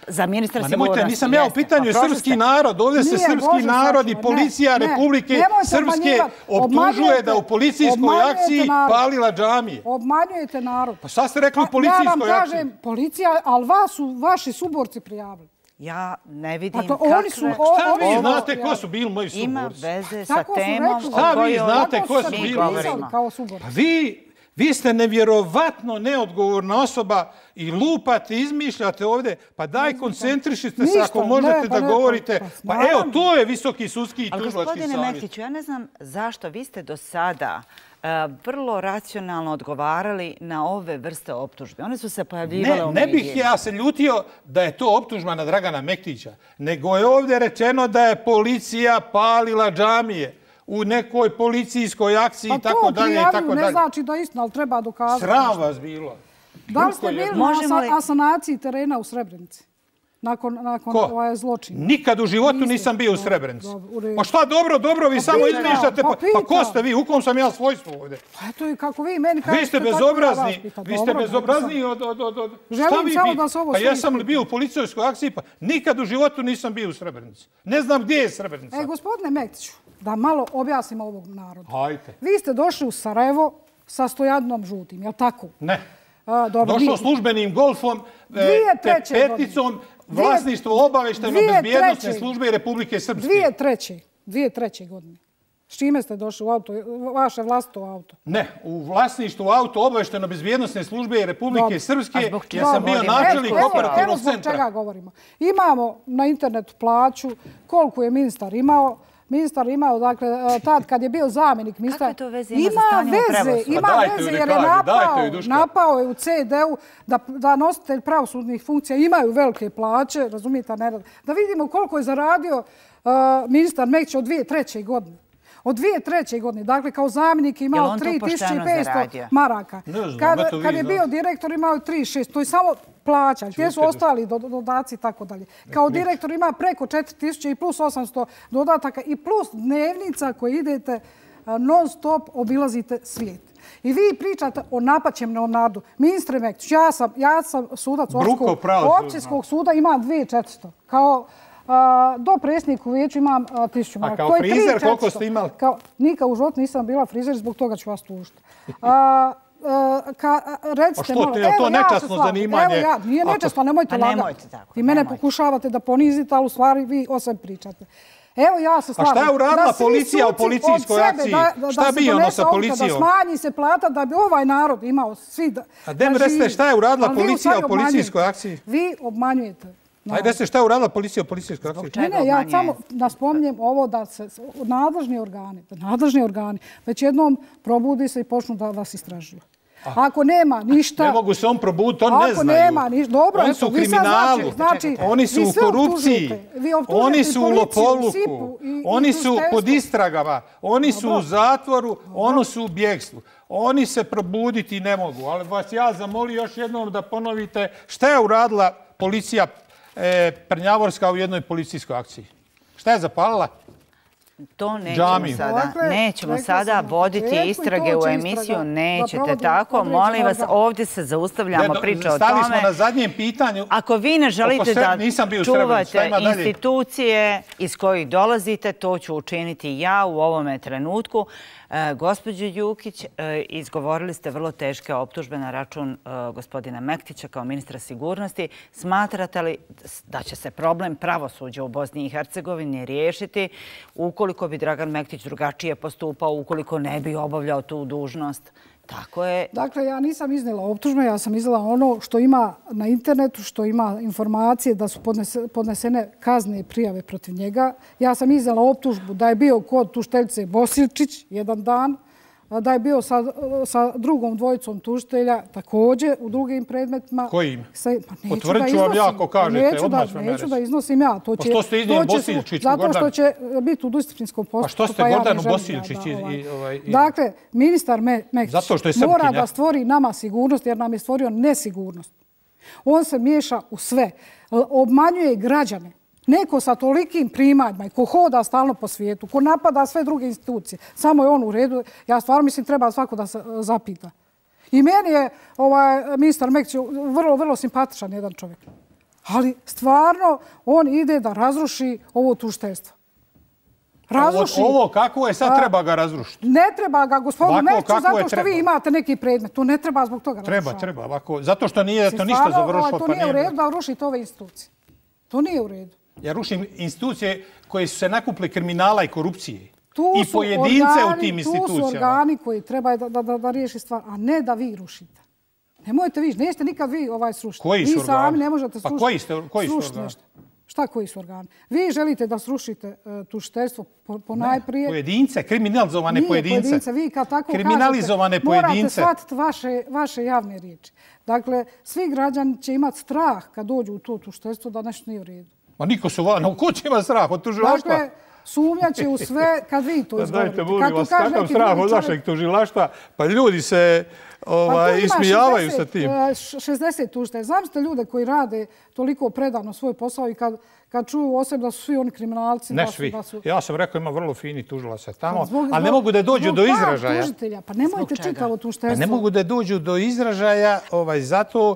Za ministra sigurnosti. Nisam ja u pitanju srpski narod. Ovdje se srpski narod i policija Republike Srpske optužuje da u policijskoj akciji palila džamije. Obmanjujete narod. Pa šta ste rekli u policijskoj akciji? Ja vam kažem policija, ali vas su vaši suborci prijavili. Ja ne vidim kakve... Šta vi znate ko su bili moji suborci? Ima veze sa temom o kojoj mi govorimo. Pa vi ste nevjerovatno neodgovorna osoba i lupate, izmišljate ovdje. Pa daj, koncentrišite se ako možete da govorite. Pa evo, to je visoki sudski i tužilački savjet. Ali gospodine Mektiću, ja ne znam zašto vi ste do sada vrlo racionalno odgovarali na ove vrste optužbe. One su se pojavljivale u medijima. Ne bih ja se ljutio da je to optužba na Dragana Mektića, nego je ovdje rečeno da je policija palila džamije u nekoj policijskoj akciji i tako dalje. Pa to prijavlju ne znači da je istina, ali treba dokazati. Sram vas bilo. Da li ste bili na asanaciji terena u Srebrenici? Nakon ovaj zločin. Nikad u životu nisam bio u Srebrenici. Pa šta dobro, vi samo izmišljate. Pa ko ste vi? U kom sam ja svojstvu ovdje? Pa eto i kako vi meni kažete... Vi ste bezobrazni od... Želim samo da se ovo... Pa ja sam li bio u policijskoj akciji? Pa nikad u životu nisam bio u Srebrenici. Ne znam gdje je Srebrenica. Gospodine Mektiću, da malo objasnim ovog narodu. Hajte. Vi ste došli u Sarajevo sa Stojadnom Žutim, je li tako? Ne. Došao službenim golfom, peticom, vlasništvo obavještajno bezbjednostne službe i Republike Srpske. 2003. 2003. godine. S čime ste došli u auto, vaše vlastito auto? Ne, u vlasništvu auto obavešteno bezbjednostne službe Republike Srpske, jer sam bio načelnik operativnog centra. Zbog čega govorimo? Imamo na internetu plaću, koliko je ministar imao. Ministar imao, dakle, tad kad je bio zamjenik ministra... Kakve to veze ima za stanje u pravosuđu? Ima veze jer je napao je u CD-u da nositelj pravosudnih funkcija imaju velike plaće, razumijete, da vidimo koliko je zaradio ministar Mektić od 2003. godine. Od 2003. godine, dakle, kao zamjenik imao 3500 maraka. Kad je bio direktor imao 3600, to je samo plaća, gdje su ostali dodaci i tako dalje. Kao direktor ima preko 4000 i plus 800 dodataka i plus dnevnica koje idete non stop, obilazite svijet. I vi pričate o napaćem Leonardu. Ministre Mektić, ja sam sudac općinskog suda, imam 2400. Kao do predsjednika u vijeću imam 1000 maraka. A kao frizer koliko ste imali? Nikad u životu nisam bila frizer, zbog toga ću vas tužiti. Recite, je to nečasno zanimanje? Nije nečasno, nemojte lagati. Vi mene pokušavate da ponizite, ali u stvari vi o sebi pričate. Evo ja se slažem. A šta je uradila policija u policijskoj akciji? Šta bi ono sa policijom? Da smanji se plata da bi ovaj narod imao svi... A dem recite šta je uradila policija u policijskoj akciji? Vi obmanjujete. Ajde, recite šta je uradila policija u policijskoj akciji? Ne, ja samo naspominjem ovo da se nadležni organi već jednom probudi se i počnu da vas istražuju. Ako nema ništa... Ne mogu se on probuditi, on ne znaju. Ako nema ništa... Dobro, oni su u kriminalu, oni su u korupciji, oni su u lopovluku, oni su pod istragama, oni su u zatvoru, oni su u bjegstvu. Oni se probuditi ne mogu, ali vas ja zamolio još jednom da ponovite šta je uradila policija Prnjavorska u jednoj policijskoj akciji. Šta je zapalila? To nećemo sada voditi istrage u emisiju, nećete tako. Molim vas, ovdje se zaustavljamo priča o tome. Stali smo na zadnjem pitanju. Ako vi ne želite da čuvate institucije iz kojih dolazite, to ću učiniti ja u ovome trenutku. Gospođo Jukić, izgovorili ste vrlo teške optužbe na račun gospodina Mektića kao ministra sigurnosti. Smatrate li da će se problem pravosuđa u Bosni i Hercegovini riješiti ukoliko bi Dragan Mektić drugačije postupao, ukoliko ne bi obavljao tu dužnost? Tako je. Dakle, ja nisam iznijela optužbe, ja sam iznijela ono što ima na internetu, što ima informacije da su podnesene kazne prijave protiv njega. Ja sam iznijela optužbu da je bio kod tužiteljice Bosilčić jedan dan, da je bio sa drugom dvojicom tužitelja također u drugim predmetima. Kojim? Potvrdit ću vam ja ako kažete. Neću da iznosim ja. Pa što ste iznijeli Bosilčiću, Gordan? Zato što će biti u disciplinskom postupku. Pa što ste Gordanu Bosilčić? Dakle, ministar Mektić mora da stvori nama sigurnost jer nam je stvorio nesigurnost. On se miješa u sve. Obmanjuje građane. Neko sa tolikim primanjima i ko hoda stalno po svijetu, ko napada sve druge institucije, samo je on u redu. Ja stvarno mislim treba svako da se zapita. I meni je ministar Mektić vrlo simpatičan jedan čovjek. Ali stvarno on ide da razruši ovo tužiteljstvo. Ovo kako je sad treba ga razrušiti? Ne treba ga, gospodinu Mektiću, zato što vi imate neki predmet. To ne treba zbog toga razrušati. Treba. Zato što nije to ništa završilo. To nije u redu da rušite ove institucije. To nije u redu. Ja rušim institucije koje su se nakupile kriminala i korupcije. I pojedince u tim institucijama. Tu su organi koji treba da riješi stvar, a ne da vi rušite. Nemojte vi, nećete nikad vi srušiti. Koji su organi? Vi sami ne možete srušiti. Pa koji su organi? Šta koji su organi? Vi želite da srušite tužiteljstvo ponajprije. Pojedince, kriminalizovane pojedince. Nije pojedince, vi kad tako kriminalizovane kažete, morate shvatiti vaše javne riječi. Dakle, svi građani će imati strah kad dođu u to tužiteljstvo da nešto nije u redu. Ma niko su u kući ima strah od tužilaštva. Dakle, sumnjaće u sve kad vi to izgovorite. Dajte, molim vas, kakav strah od vašeg tužilaštva? Pa ljudi se ismijavaju sa tim. 60 tužitelja. Zamislite ljude koji rade toliko predano svoj posao i kad čuju o sebi da su svi oni kriminalci. Ne svi. Ja sam rekao ima vrlo fini tužilaca tamo, ali ne mogu da dođu do izražaja. Pa nemojte čitavo tužiteljstvo. Ne mogu da dođu do izražaja zato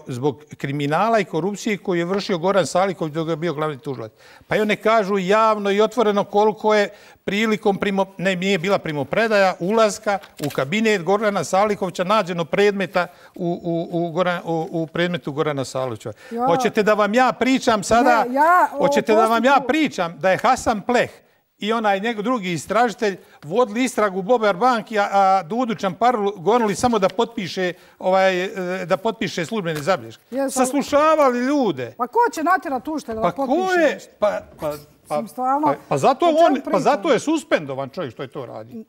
zbog kriminala i korupcije koju je vršio Goran Saliković dok je bio glavni tužilac. Pa i one kažu javno i otvoreno koliko je prilikom, nije bila primopredaja, ulaska u kabinet Gorana Salikovića nađeno predmeta u predmetu Gorana Salikovića. Hoćete da vam ja pričam pričam sada, hoćete da vam ja pričam da je Hasan Pleh i onaj njegov drugi istražitelj vodili istragu Bober banki, a Dudu Čamparlu gonili samo da potpiše službene zabilješke. Saslušavali ljude. Pa ko će natjerati tužitelja da potpiše nešto? Pa zato je suspendovan čovjek što je to radi.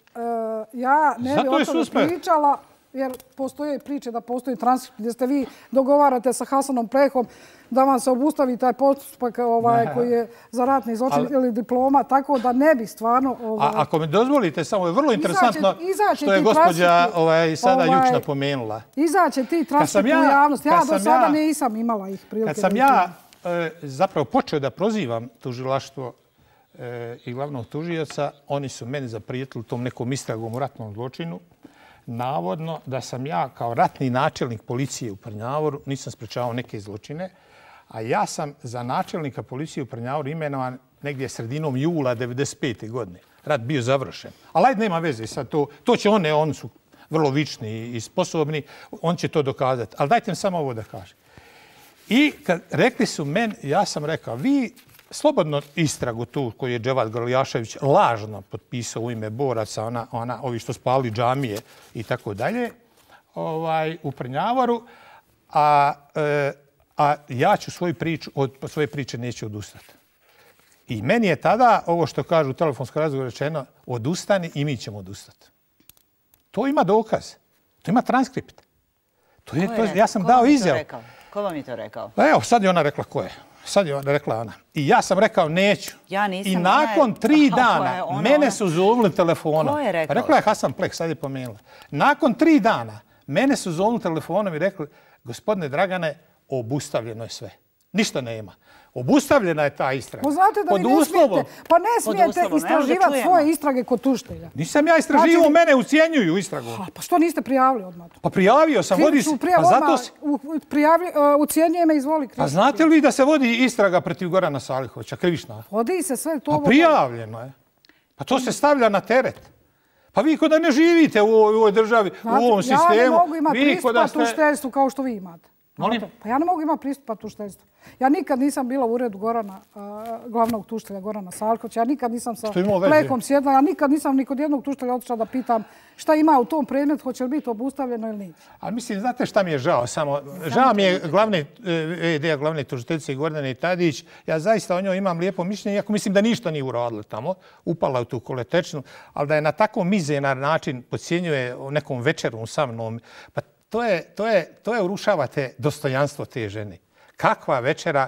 Ja ne bi o tome pričala, jer postoje priče da postoji transkript gdje ste vi dogovarate sa Hasanom Plehom da vam se obustavi taj postupak koji je za ratni zločin ili diploma, tako da ne bi stvarno... Ako mi dozvolite, samo je vrlo interesantno što je gospođa sada jučna pomenula. Izaće ti transkripti u javnost. Ja do sada nisam imala ih prilike. Kad sam ja zapravo počeo da prozivam tužilaštvo i glavnog tužioca, oni su meni zaprijetili tom nekom istragom u ratnom zločinu. Navodno da sam ja kao ratni načelnik policije u Prnjavoru nisam sprečavao neke zločine, a ja sam za načelnika policije u Prnjavoru imenovan negdje sredinom jula 1995. godine. Rat bio završen. Ali ajde, nema veze sad to. To će oni su vrlo vični i sposobni, on će to dokazati. Ali dajte mi samo ovo da kažem. I kad rekli su meni, ja sam rekao, vi slobodno istragu tu koju je Dževad Grlijašević lažno potpisao u ime boraca, ovi što spali džamije i tako dalje, u Prnjavoru, a ja ću od svoje priče neću odustati. I meni je tada, ovo što kažu u telefonskom razgovoru rečeno, odustani i mi ćemo odustati. To ima dokaz, to ima transkript. Ja sam dao izjavu. Ko vam je to rekao? Evo, sad je ona rekla ko je. Sad je rekla ona. I ja sam rekao neću. I nakon 3 dana mene su zovnuli telefonom. Ko je rekao? Rekla je Hasan Pleh, sad je pomenula. Nakon 3 dana mene su zovnuli telefonom i rekli, gospodine Dragane, obustavljeno je sve. Ništa nema. Obustavljena je ta istraga. Znate da vi ne smijete istraživati svoje istrage kod tužitelja. Nisam ja istraživao, mene ucijenjuju istragu. Pa što niste prijavili odmah? Pa prijavio sam. Ucijenjuje me, izvoli. Pa znate li da se vodi istraga protiv Gorana Salihovića, krivična? Vodi se sve to. Pa prijavljeno je. Pa to se stavlja na teret. Pa vi kod da ne živite u ovoj državi, u ovom sistemu. Ja ne mogu imati pristupa tužiteljstvu kao što vi imate. Molim? Pa ja ne mogu imati pristupa tužiteljstvu. Ja nikad nisam bila u uredu glavnog tužitelja Gorana Salihovića. Ja nikad nisam sa Plehom sjedla. Ja nikad nisam ni kod jednog tužitelja otišla da pitam šta ima u tom predmetu, hoće li biti obustavljeno ili nije. A mislim, znate šta mi je žao? Žao mi je glavne tužiteljice Gordane Tadić. Ja zaista o njoj imam lijepo mišljenje, iako mislim da ništa nije uradila tamo. Upala u tu koletečnu, ali da je na tako mizeran način podcjenjuje o nekom večeru sa mnom. Pa to je urušavate dostojanstvo te žene. Kakva večera,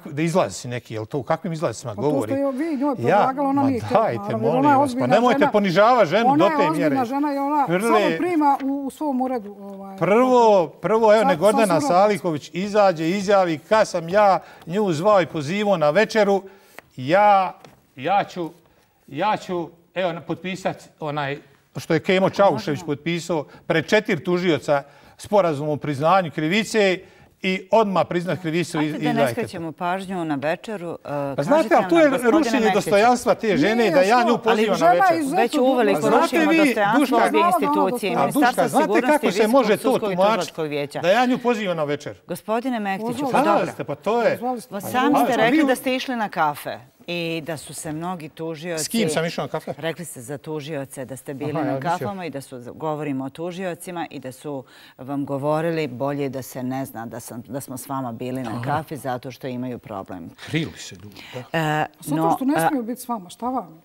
da izlazi neki, jel to u kakvim izlazicima govori? Pa to ste vi njoj predlagala, ona nije htjela. Dajte, molim vas, pa nemojte ponižavati ženu do te mjere. Ona je ozbiljna žena i ona samo prima u svom uredu. Prvo, evo, Gordana Salihović izađe, izjavi kad sam ja nju zvao i pozivao na večeru, ja ću, evo, potpisati onaj što je Kemo Čaušević potpisao pred 4 tužioca sporazum o priznanju krivice i odmah priznat krivicu. Ajde da ne skrećemo pažnju na večeru. Pa znate, ali tu je rušenje dostojanstva te žene da ja nju pozivam na večeru. Već uveliko rušimo dostojanstvo ovdje institucije. Ministarstva sigurnosti i Visokog sudskog i tužilačkog vijeća. Da ja nju pozivam na večeru. Gospodine Mektiću, pa dobro. Pa to je... Sami ste rekli da ste išli na kafe. I da su se mnogi tužioci... S kim sam išao na kafe? Rekli ste za tužioce da ste bili na kafama i da govorimo o tužiocima i da su vam govorili bolje da se ne zna da smo s vama bili na kafi zato što imaju problem. Krili se ljudi. Zato što ne smiju biti s vama, šta vam?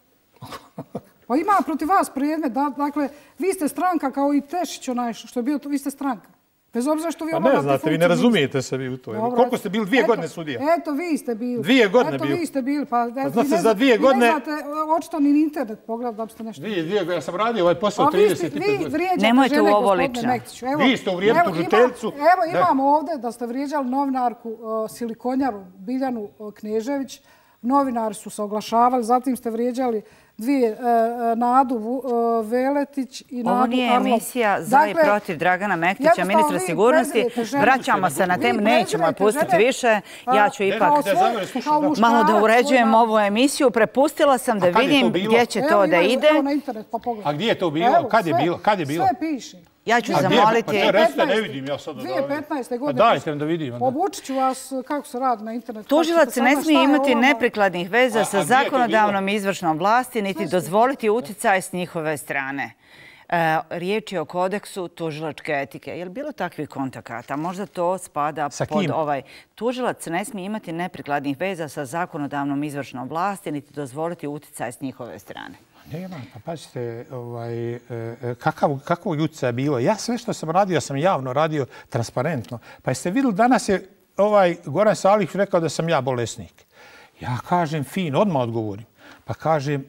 Pa ima protiv vas predmet, dakle, vi ste stranka kao i Tešić onaj što je bio, vi ste stranka. Bez obzira što vi obavljate funkciju. Pa ne znate, vi ne razumijete se vi u to. Koliko ste bili? 2 godine sudija? Eto, vi ste bili. 2 godine bili. Eto, vi ste bili. Pa znate, za 2 godine... Vi ne znate, očito ni internet pogledati da biste nešto... 2 godine, ja sam radio ovaj posao 35 godina. Vi vrijeđate žene, gospodine Mektiću. Vi ste uvrijedili tužiteljicu. Evo, imamo ovdje da ste vrijeđali novinarku Silikonjaru Biljanu Knežević. Novinari su se oglašavali, zatim ste vrijeđali Nadu Veletić i Nadu Arlov. Ovo nije emisija za i protiv Dragana Mektića, ministra sigurnosti. Vraćamo se na temu, nećemo je pustiti više. Ja ću ipak malo da uređujem ovu emisiju. Prepustila sam da vidim gdje će to da ide. A gdje je to bilo? Kad je bilo? Sve piše. Ja ću zamoliti... Pa recite, ne vidim ja sad. 2015. godine. Dajte nam da vidimo. Obučit ću vas kako se radi na internetu. Tužilac ne smije imati neprikladnih veza sa zakonodavnom izvršnom vlasti, niti dozvoliti uticaj s njihove strane. Riječ je o kodeksu tužilačke etike. Je li bilo takvih kontakata? Možda to spada pod ovaj... Tužilac ne smije imati neprikladnih veza sa zakonodavnom izvršnom vlasti, niti dozvoliti uticaj s njihove strane. Nema, pa pazite, kakvog utjecaja je bilo. Ja sve što sam radio, sam javno radio, transparentno. Pa jeste vidjeli, danas je Goran Salić rekao da sam ja bolesnik. Ja kažem, fin, odmah odgovorim. Pa kažem,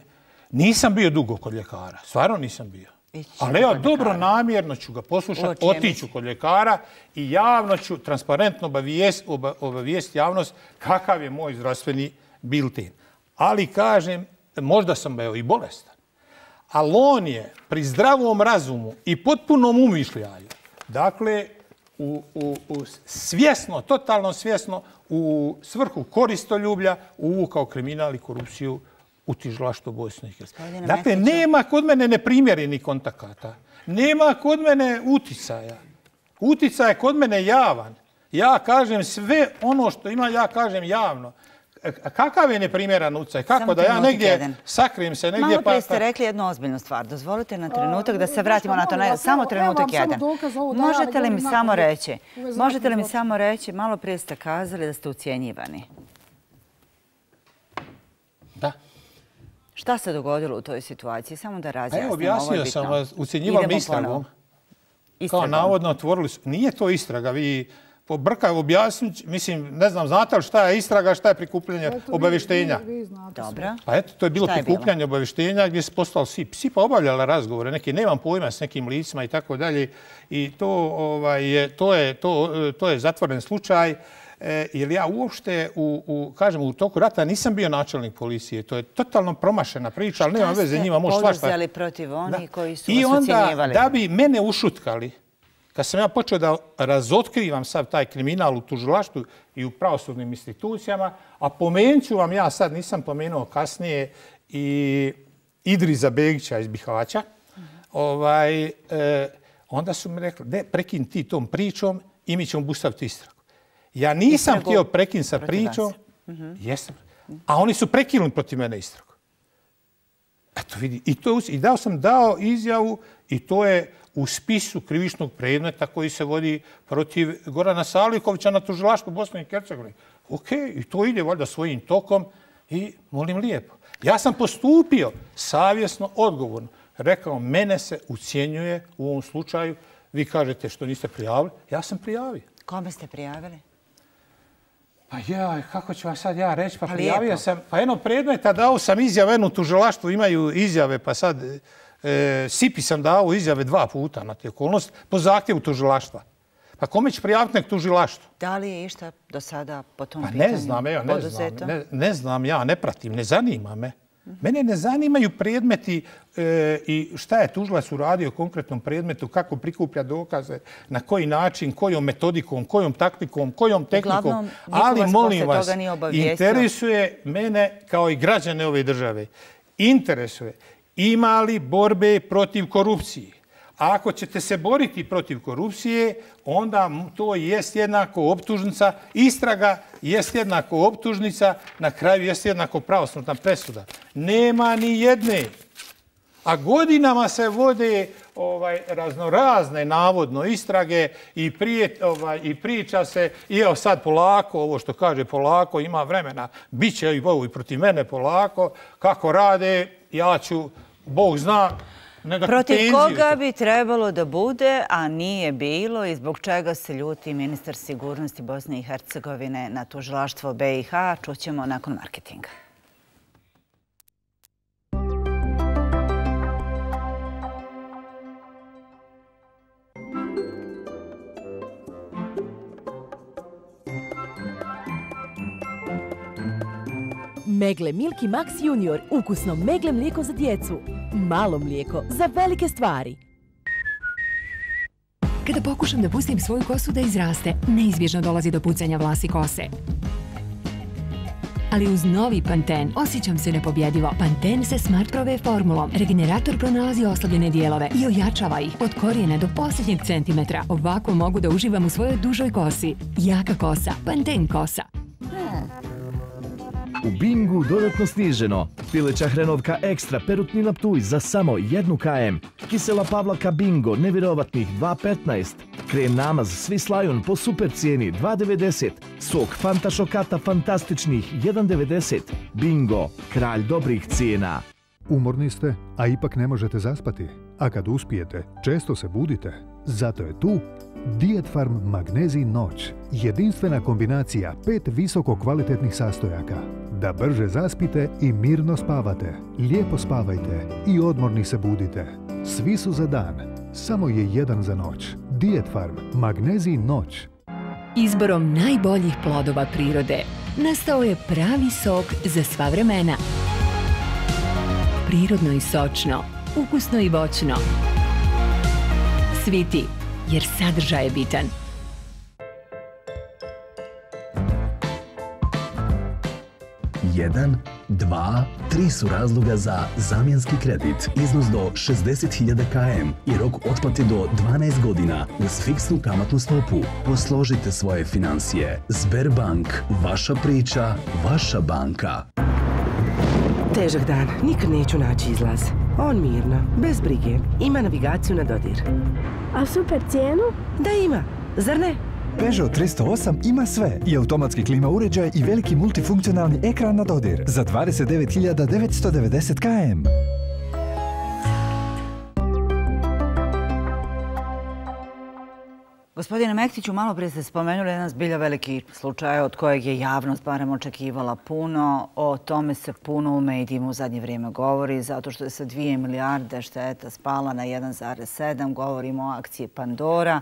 nisam bio dugo kod ljekara. Stvarno nisam bio. Ali evo, dobro namjerno ću ga poslušati, otiću kod ljekara i javno ću transparentno obavijesti javnost kakav je moj zdravstveni bilten. Ali kažem, možda sam i bolestan. Ali on je pri zdravom razumu i potpunom umišljaju, dakle, svjesno, totalno svjesno, u svrhu koristoljublja uvukao kriminal i korupciju u tužilaštvu Bosne i Hercegovine. Dakle, nema kod mene neprimjerenih kontakata. Nema kod mene uticaja. Uticaj je kod mene javan. Ja kažem sve ono što ima, ja kažem javno. Kakav je neprimjeran uticaj? Kako da ja negdje sakrijem se negdje... Malo prije ste rekli jednu ozbiljnu stvar. Dozvolite na trenutak da se vratimo na to. Samo trenutak jedan. Možete li mi samo reći, malo prije ste kazali da ste ucijenjivani. Da. Šta se dogodilo u toj situaciji? Samo da razjasnimo. Evo, objasnio sam vas, ucijenjivam istragom. Kao navodno otvorili su. Nije to istraga, vi... Pobrkaju objasniti, mislim, ne znam, znate li šta je istraga, šta je prikupljanje obavještenja? Dobro. Pa eto, to je bilo prikupljanje obavještenja gdje se postali svi pa obavljali razgovore, neki, nemam pojma s nekim licima i tako dalje. I to je zatvoren slučaj. Jer ja uopšte, kažem, u toku rata nisam bio načelnik policije. To je totalno promašena priča, ali nema veze, njima može svašta. Šta ste poduzeli protiv onih koji su vas ucijenjivali? I onda, da bi mene ušutkali, kad sam ja počeo da razotkrivam sad taj kriminal u tužilaštvu i u pravosudnim institucijama, a pomenut ću vam, ja sad nisam pomenuo kasnije, i Idriza Begića iz Bihaća, onda su mi rekli, prekini ti tom pričom i mi ćemo obustaviti istragu. Ja nisam htio prekinuti sa pričom, a oni su prekinuli protiv mene istragu. Eto vidi, i dao izjavu i to je u spisu krivičnog predmeta koji se vodi protiv Gorana Salikovića na tužilaštvu Bosne i Hercegovine. Ok, i to ide valjda svojim tokom i molim lijepo. Ja sam postupio savjesno, odgovorno. Rekao, mene se ucijenjuje u ovom slučaju. Vi kažete što niste prijavili. Ja sam prijavio. Kome ste prijavili? Pa kako ću vam sad ja reći? Pa prijavio sam, pa jedno predmeta dao sam izjave, u tužilaštvu imaju izjave, pa sad Sipi sam dao izjave 2 puta na te okolnosti po zahtjevu tužilaštva. Pa kome će prijaviti nek tužilaštvo? Da li je išta do sada po tom pitanju poduzeto? Ne znam, ja ne pratim, ne zanima me. Mene ne zanimaju predmeti i šta je tužilac uradio u konkretnom predmetu, kako prikuplja dokaze, na koji način, kojom metodikom, kojom taktikom, kojom tehnikom. Ali molim vas, interesuje mene kao i građane ove države. Interesuje ima li borbe protiv korupcije. A ako ćete se boriti protiv korupcije, onda to jest jednako optužnica, istraga jest jednako optužnica, na kraju jest jednako pravosudna presuda. Nema ni jedne. A godinama se vode raznorazne navodno istrage i priča se, i evo sad polako, ovo što kaže polako, ima vremena, bit će i protiv mene polako, kako rade, ja ću, Bog zna, protiv koga bi trebalo da bude, a nije bilo i zbog čega se ljuti ministar sigurnosti Bosne i Hercegovine na tužilaštvo BiH, čućemo nakon marketinga. Megle Milky Max Junior, ukusno megle mlijeko za djecu. Malo mlijeko za velike stvari. Kada pokušam da pustim svoju kosu da izraste, neizbježno dolazi do pucanja vlasi kose. ali uz novi Panten osjećam se nepobjedivo. Panten se Smart Prove formulom. Regenerator pronalazi oslabljene dijelove i ojačava ih od korijena do posljednjeg centimetra. Ovako mogu da uživam u svojoj dužoj kosi. Jaka kosa, Panten kosa. U Bingu dodatno sniženo. Pileća hrenovka ekstra perutnina Ptuj za samo 1 km. Kisela pavlaka Bingo nevjerovatnih 2,15. Krem namaz Swiss Lion po super cijeni 2,90. Sok Fanta Šokata fantastičnih 1,90. Bingo, kralj dobrih cijena. Umorni ste, a ipak ne možete zaspati. A kad uspijete, često se budite. Zato je tu Dietfarm Magnezij Noć. Jedinstvena kombinacija 5 visoko kvalitetnih sastojaka. Da brže zaspite i mirno spavate. Lijepo spavajte i odmorni se budite. Svi su za dan, samo je jedan za noć. Dietfarm Magnezij Noć. Izborom najboljih plodova prirode nastao je pravi sok za sva vremena. Prirodno i sočno, ukusno i voćno. Sviti, jer sadržaj je bitan. Jedan, 2, 3 su razloga za zamjenski kredit. Iznos do 60.000 km i rok otplate do 12 godina uz fiksnu kamatnu stopu. Posložite svoje financije. Sberbank, vaša priča, vaša banka. Težak dan, nikad neću naći izlaz. On mirno, bez brige, ima navigaciju na dodir. A super cijenu? Da ima, zar ne? Peugeot 308 ima sve, i automatski klima uređaj i veliki multifunkcionalni ekran na dodir za 29.990 km. Gospodine Mektiću, malo prije ste spomenuli jedan zbilja veliki slučaj od kojeg je javnost barem očekivala puno. O tome se puno u medijima u zadnje vrijeme govori, zato što je sa 2 milijarde šteta spala na 1,7. Govorimo o akciji Pandora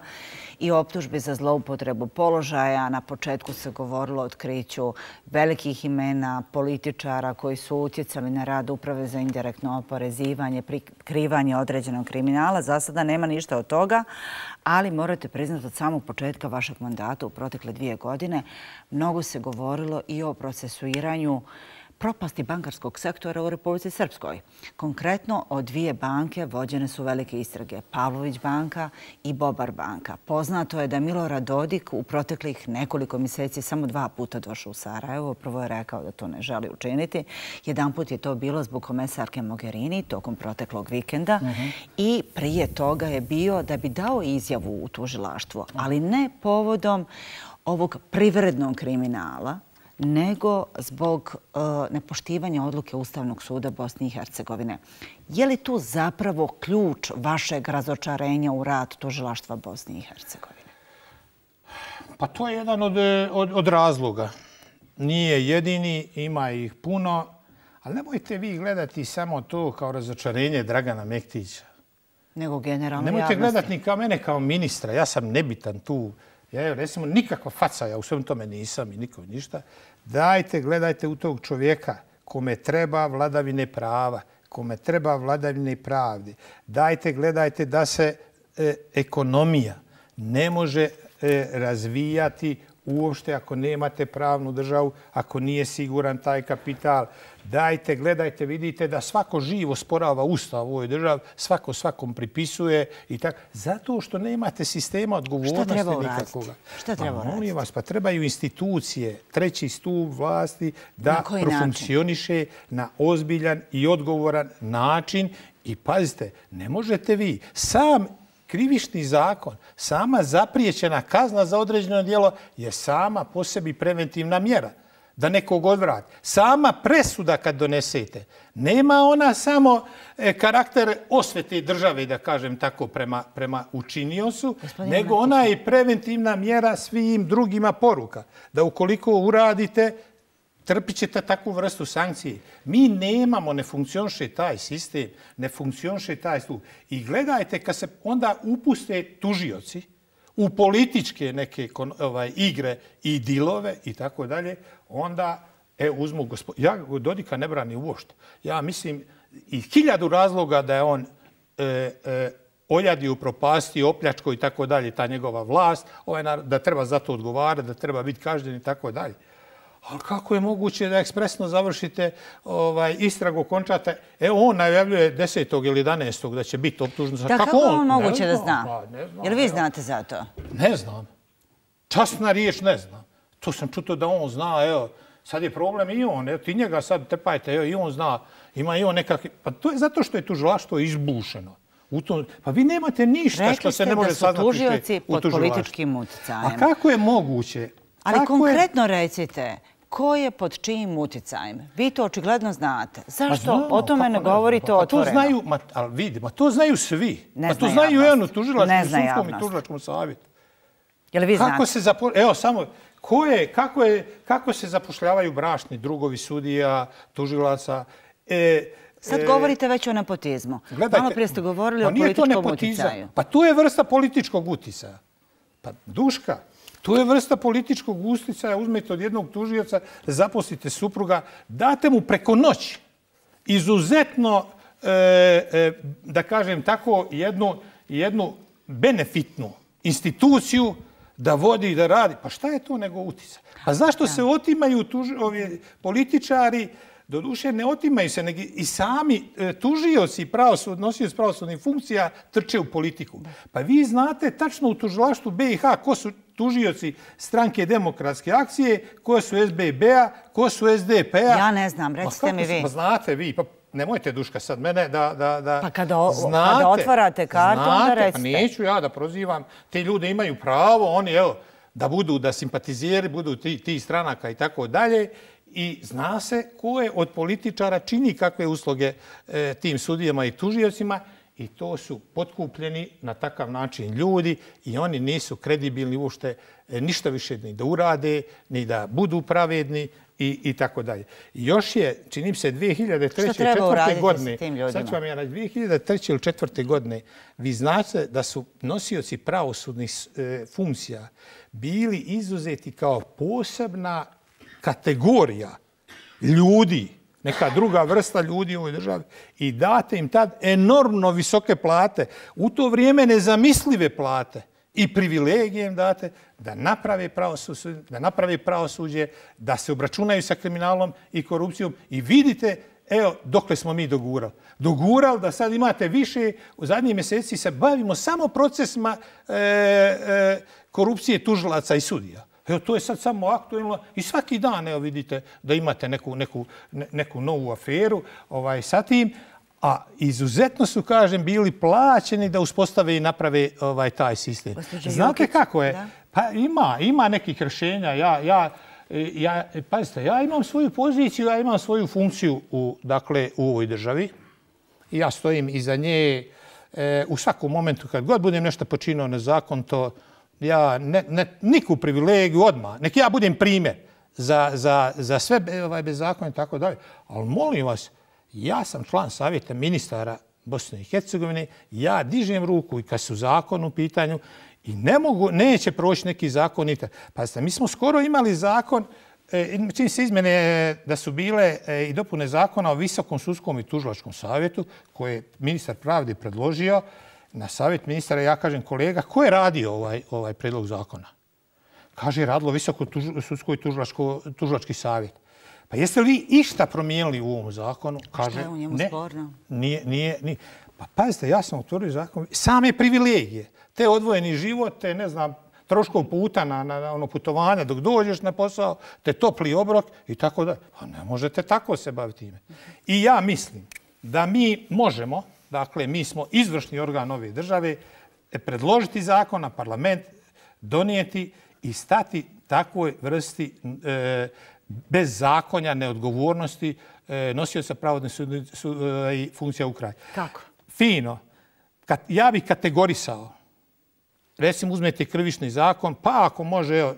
i optužbi za zloupotrebu položaja. Na početku se govorilo o otkriću velikih imena političara koji su utjecali na rad Uprave za indirektno oporezivanje, prikrivanje određenog kriminala. Za sada nema ništa od toga, ali morate priznati od samog početka vašeg mandata u protekle 2 godine mnogo se govorilo i o procesuiranju propasti bankarskog sektora u Republici Srpskoj. Konkretno, od 2 banke vođene su velike istrage, Pavlović banka i Bobar banka. Poznato je da Milorad Dodik u proteklih nekoliko mjeseci samo 2 puta došao u Sarajevo. Prvo je rekao da to ne želi učiniti. Jedan put je to bilo zbog komesarke Mogherini tokom proteklog vikenda i prije toga je bio da bi dao izjavu u tužilaštvo, ali ne povodom ovog privrednog kriminala, nego zbog nepoštivanja odluke Ustavnog suda Bosne i Hercegovine. Je li tu zapravo ključ vašeg razočarenja u rad tužilaštva Bosne i Hercegovine? Pa to je jedan od razloga. Nije jedini, ima ih puno, ali nemojte vi gledati samo to kao razočarenje Dragana Mektića. Nego generalno javnosti. Nemojte gledati ni kao mene kao ministra, ja sam nebitan tu. Ja, recimo, nikakva faca, ja u svem tome nisam i nikom ništa. Dajte, gledajte u tog čovjeka kome treba vladavine prava, kome treba vladavine pravde. Dajte, gledajte da se ekonomija ne može razvijati uopšte ako nemate pravnu državu, ako nije siguran taj kapital. Dajte, gledajte, vidite da svako živo sporava ustav u ovoj državi, svako svakom pripisuje i tako. Zato što nemate sistema odgovornosti nikakvoga. Šta treba uraditi? Molim vas, pa trebaju institucije, 3. stup vlasti da profunkcioniše na ozbiljan i odgovoran način. I pazite, ne možete vi sam krivični zakon, sama zapriječena kazna za određeno djelo je sama po sebi preventivna mjera da nekog odvrati. Sama presuda kad donesete, nema ona samo karakter osvete države, da kažem tako, prema učiniocu, nego ona je preventivna mjera svim drugima poruka. Da ukoliko uradite, trpit ćete takvu vrstu sankcije. Mi nemamo, ne funkcioniše taj sistem, ne funkcioniše taj stup. I gledajte, kad se onda upuste tužioci u političke neke igre i dilove i tako dalje, onda uzmu ja Dodika ne branim uopšte. Ja mislim i 1000 razloga da je on oljadio, propastio, opljačko i tako dalje, ta njegova vlast, da treba za to odgovarati, da treba biti kažnjen i tako dalje. Ali kako je moguće da ekspresno završite istragu, končate? Evo, on najavljuje 10. ili 11. da će biti optužen. Da, kako on moguće da zna? Jel vi znate za to? Ne znam. Časna riječ ne znam. To sam čuto da on zna, evo, sad je problem i on, evo, ti njega sad trpajte, evo, i on zna, ima i on nekakvi... Pa to je zato što je tužilaštvo izbušeno. Pa vi nemate ništa što se ne može saznati u tužilaštvu. Rekli ste da su tužioci pod političkim uticajem. A kako je moguće? Ali konkretno recite, ko je pod čijim uticajem? Vi to očigledno znate. Zašto o tome ne govorite otvoreno? Ali vidimo, to znaju svi. To znaju i ono tužilačkom, sudskom i tužilačkom savjetu. Jel vi znate? Evo samo, kako se zapošljavaju bračni drugovi sudija, tužilaca? Sad govorite već o nepotizmu. Malo prije ste govorili o političkom uticaju. Pa to je vrsta političkog uticaja. Pa Duška, to je vrsta političkog uticaja. Uzmete od jednog tužioca, zaposlite supruga, date mu preko noći izuzetno, da kažem tako, jednu benefitnu instituciju da vodi i da radi. Pa šta je to nego uticaj? Pa zašto se otimaju političari? Doduše, ne otimaju se, nego i sami tužioci, nosioci pravosudnih funkcija trče u politiku. Pa vi znate tačno u tužilaštvu BiH ko su tužioci Stranke demokratske akcije, ko su SBB-a, ko su SDP-a. Ja ne znam, recite mi vi. Pa znate vi, pa nemojte Duška sad mene da... Pa kada otvarate kartu, onda recite. Pa neću ja da prozivam. Te ljude imaju pravo, oni, evo, da budu, da simpatizeri, budu ti stranaka i tako dalje. I zna se ko je od političara čini kakve usluge tim sudijama i tužiocima i to su potkupljeni na takav način ljudi i oni nisu kredibilni uopšte ništa više ni da urade, ni da budu pravedni i tako dalje. Još je, čini se, 2003. i 2004. godine, sad ću vam ja reći, 2003. ili 2004. godine, vi znate da su nosioci pravosudnih funkcija bili izuzeti kao posebna kategorija ljudi, neka druga vrsta ljudi u ovoj državi i date im tad enormno visoke plate, u to vrijeme nezamislive plate i privilegije im date da naprave pravosuđe, da se obračunaju sa kriminalom i korupcijom i vidite, evo, dokle smo mi dogurali. Dogurali da sad imate više, u zadnjih mjeseci se bavimo samo procesima korupcije tužilaca i sudija. Evo, to je sad samo aktuelno i svaki dan, evo, vidite da imate neku novu aferu sa tim, a izuzetno su, kažem, bili plaćeni da uspostave i naprave taj sistem. Znate kako je? Pa ima nekih rješenja. Pazite, ja imam svoju poziciju, ja imam svoju funkciju u ovoj državi i ja stojim iza nje u svakom momentu kad god budem nešto počinio nezakonito. Ja niku privilegiju odmah. Nek ja budem primjer za sve bezakonje i tako dalje. Ali molim vas, ja sam član savjeta ministara Bosne i Hercegovine, ja dižem ruku i kad su zakon u pitanju i neće proći neki zakon. Pazite, mi smo skoro imali zakon, čini se izmjene da su bile i dopune zakona o Visokom sudskom i tužilačkom savjetu koje je ministar pravde predložio. Na savjet ministara ja kažem, kolega, ko je radio ovaj predlog zakona? Kaže, radilo Visoko sudsko i tužilački savjet. Pa jeste li išta promijenili u ovom zakonu? Kaže, šta je u njemu sporno? Nije. Pa pazite, ja sam otvorio zakon. Same privilegije, te odvojeni život, te ne znam, troškov puta na putovanja dok dođeš na posao, te topli obrok i tako da. Pa ne možete tako se baviti time. I ja mislim da mi možemo, dakle, mi smo izvršni organ ove države, predložiti zakon na parlament, donijeti i stati takvoj vrsti bezzakonja, neodgovornosti nosioca pravodnih funkcija u kraju. Kako? Fino. Ja bih kategorisao. Recimo, uzmete krivični zakon, pa ako može,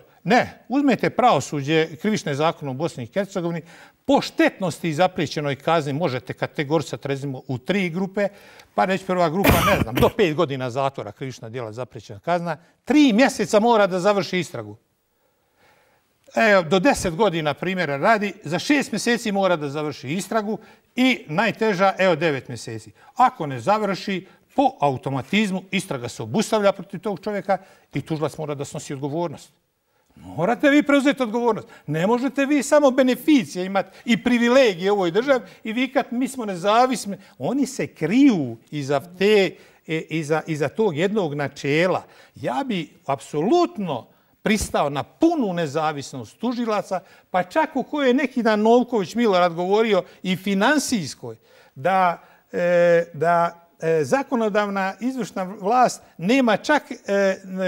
uzmete pravosuđe, krivične zakone u Bosni i Hercegovini, po štetnosti i zapriječenoj kazni možete kategorisati, recimo, u 3 grupe, pa reći prva grupa, ne znam, do 5 godina zatvora, krivična djela, zapriječena kazna, 3 mjeseca mora da završi istragu. Evo, do 10 godina primjera radi, za 6 mjeseci mora da završi istragu i najteža, evo, 9 mjeseci. Ako ne završi, po automatizmu istraga se obustavlja protiv tog čovjeka i tužilac mora da snosi odgovornost. Morate vi preuzeti odgovornost. Ne možete vi samo beneficije imati i privilegije u ovoj državi i vikat mi smo nezavisni. Oni se kriju iza tog jednog načela. Ja bi apsolutno pristao na punu nezavisnost tužilaca, pa čak u kojoj je neki dan Novković Milorad govorio i finansijskoj, da zakonodavna izvršna vlast nema čak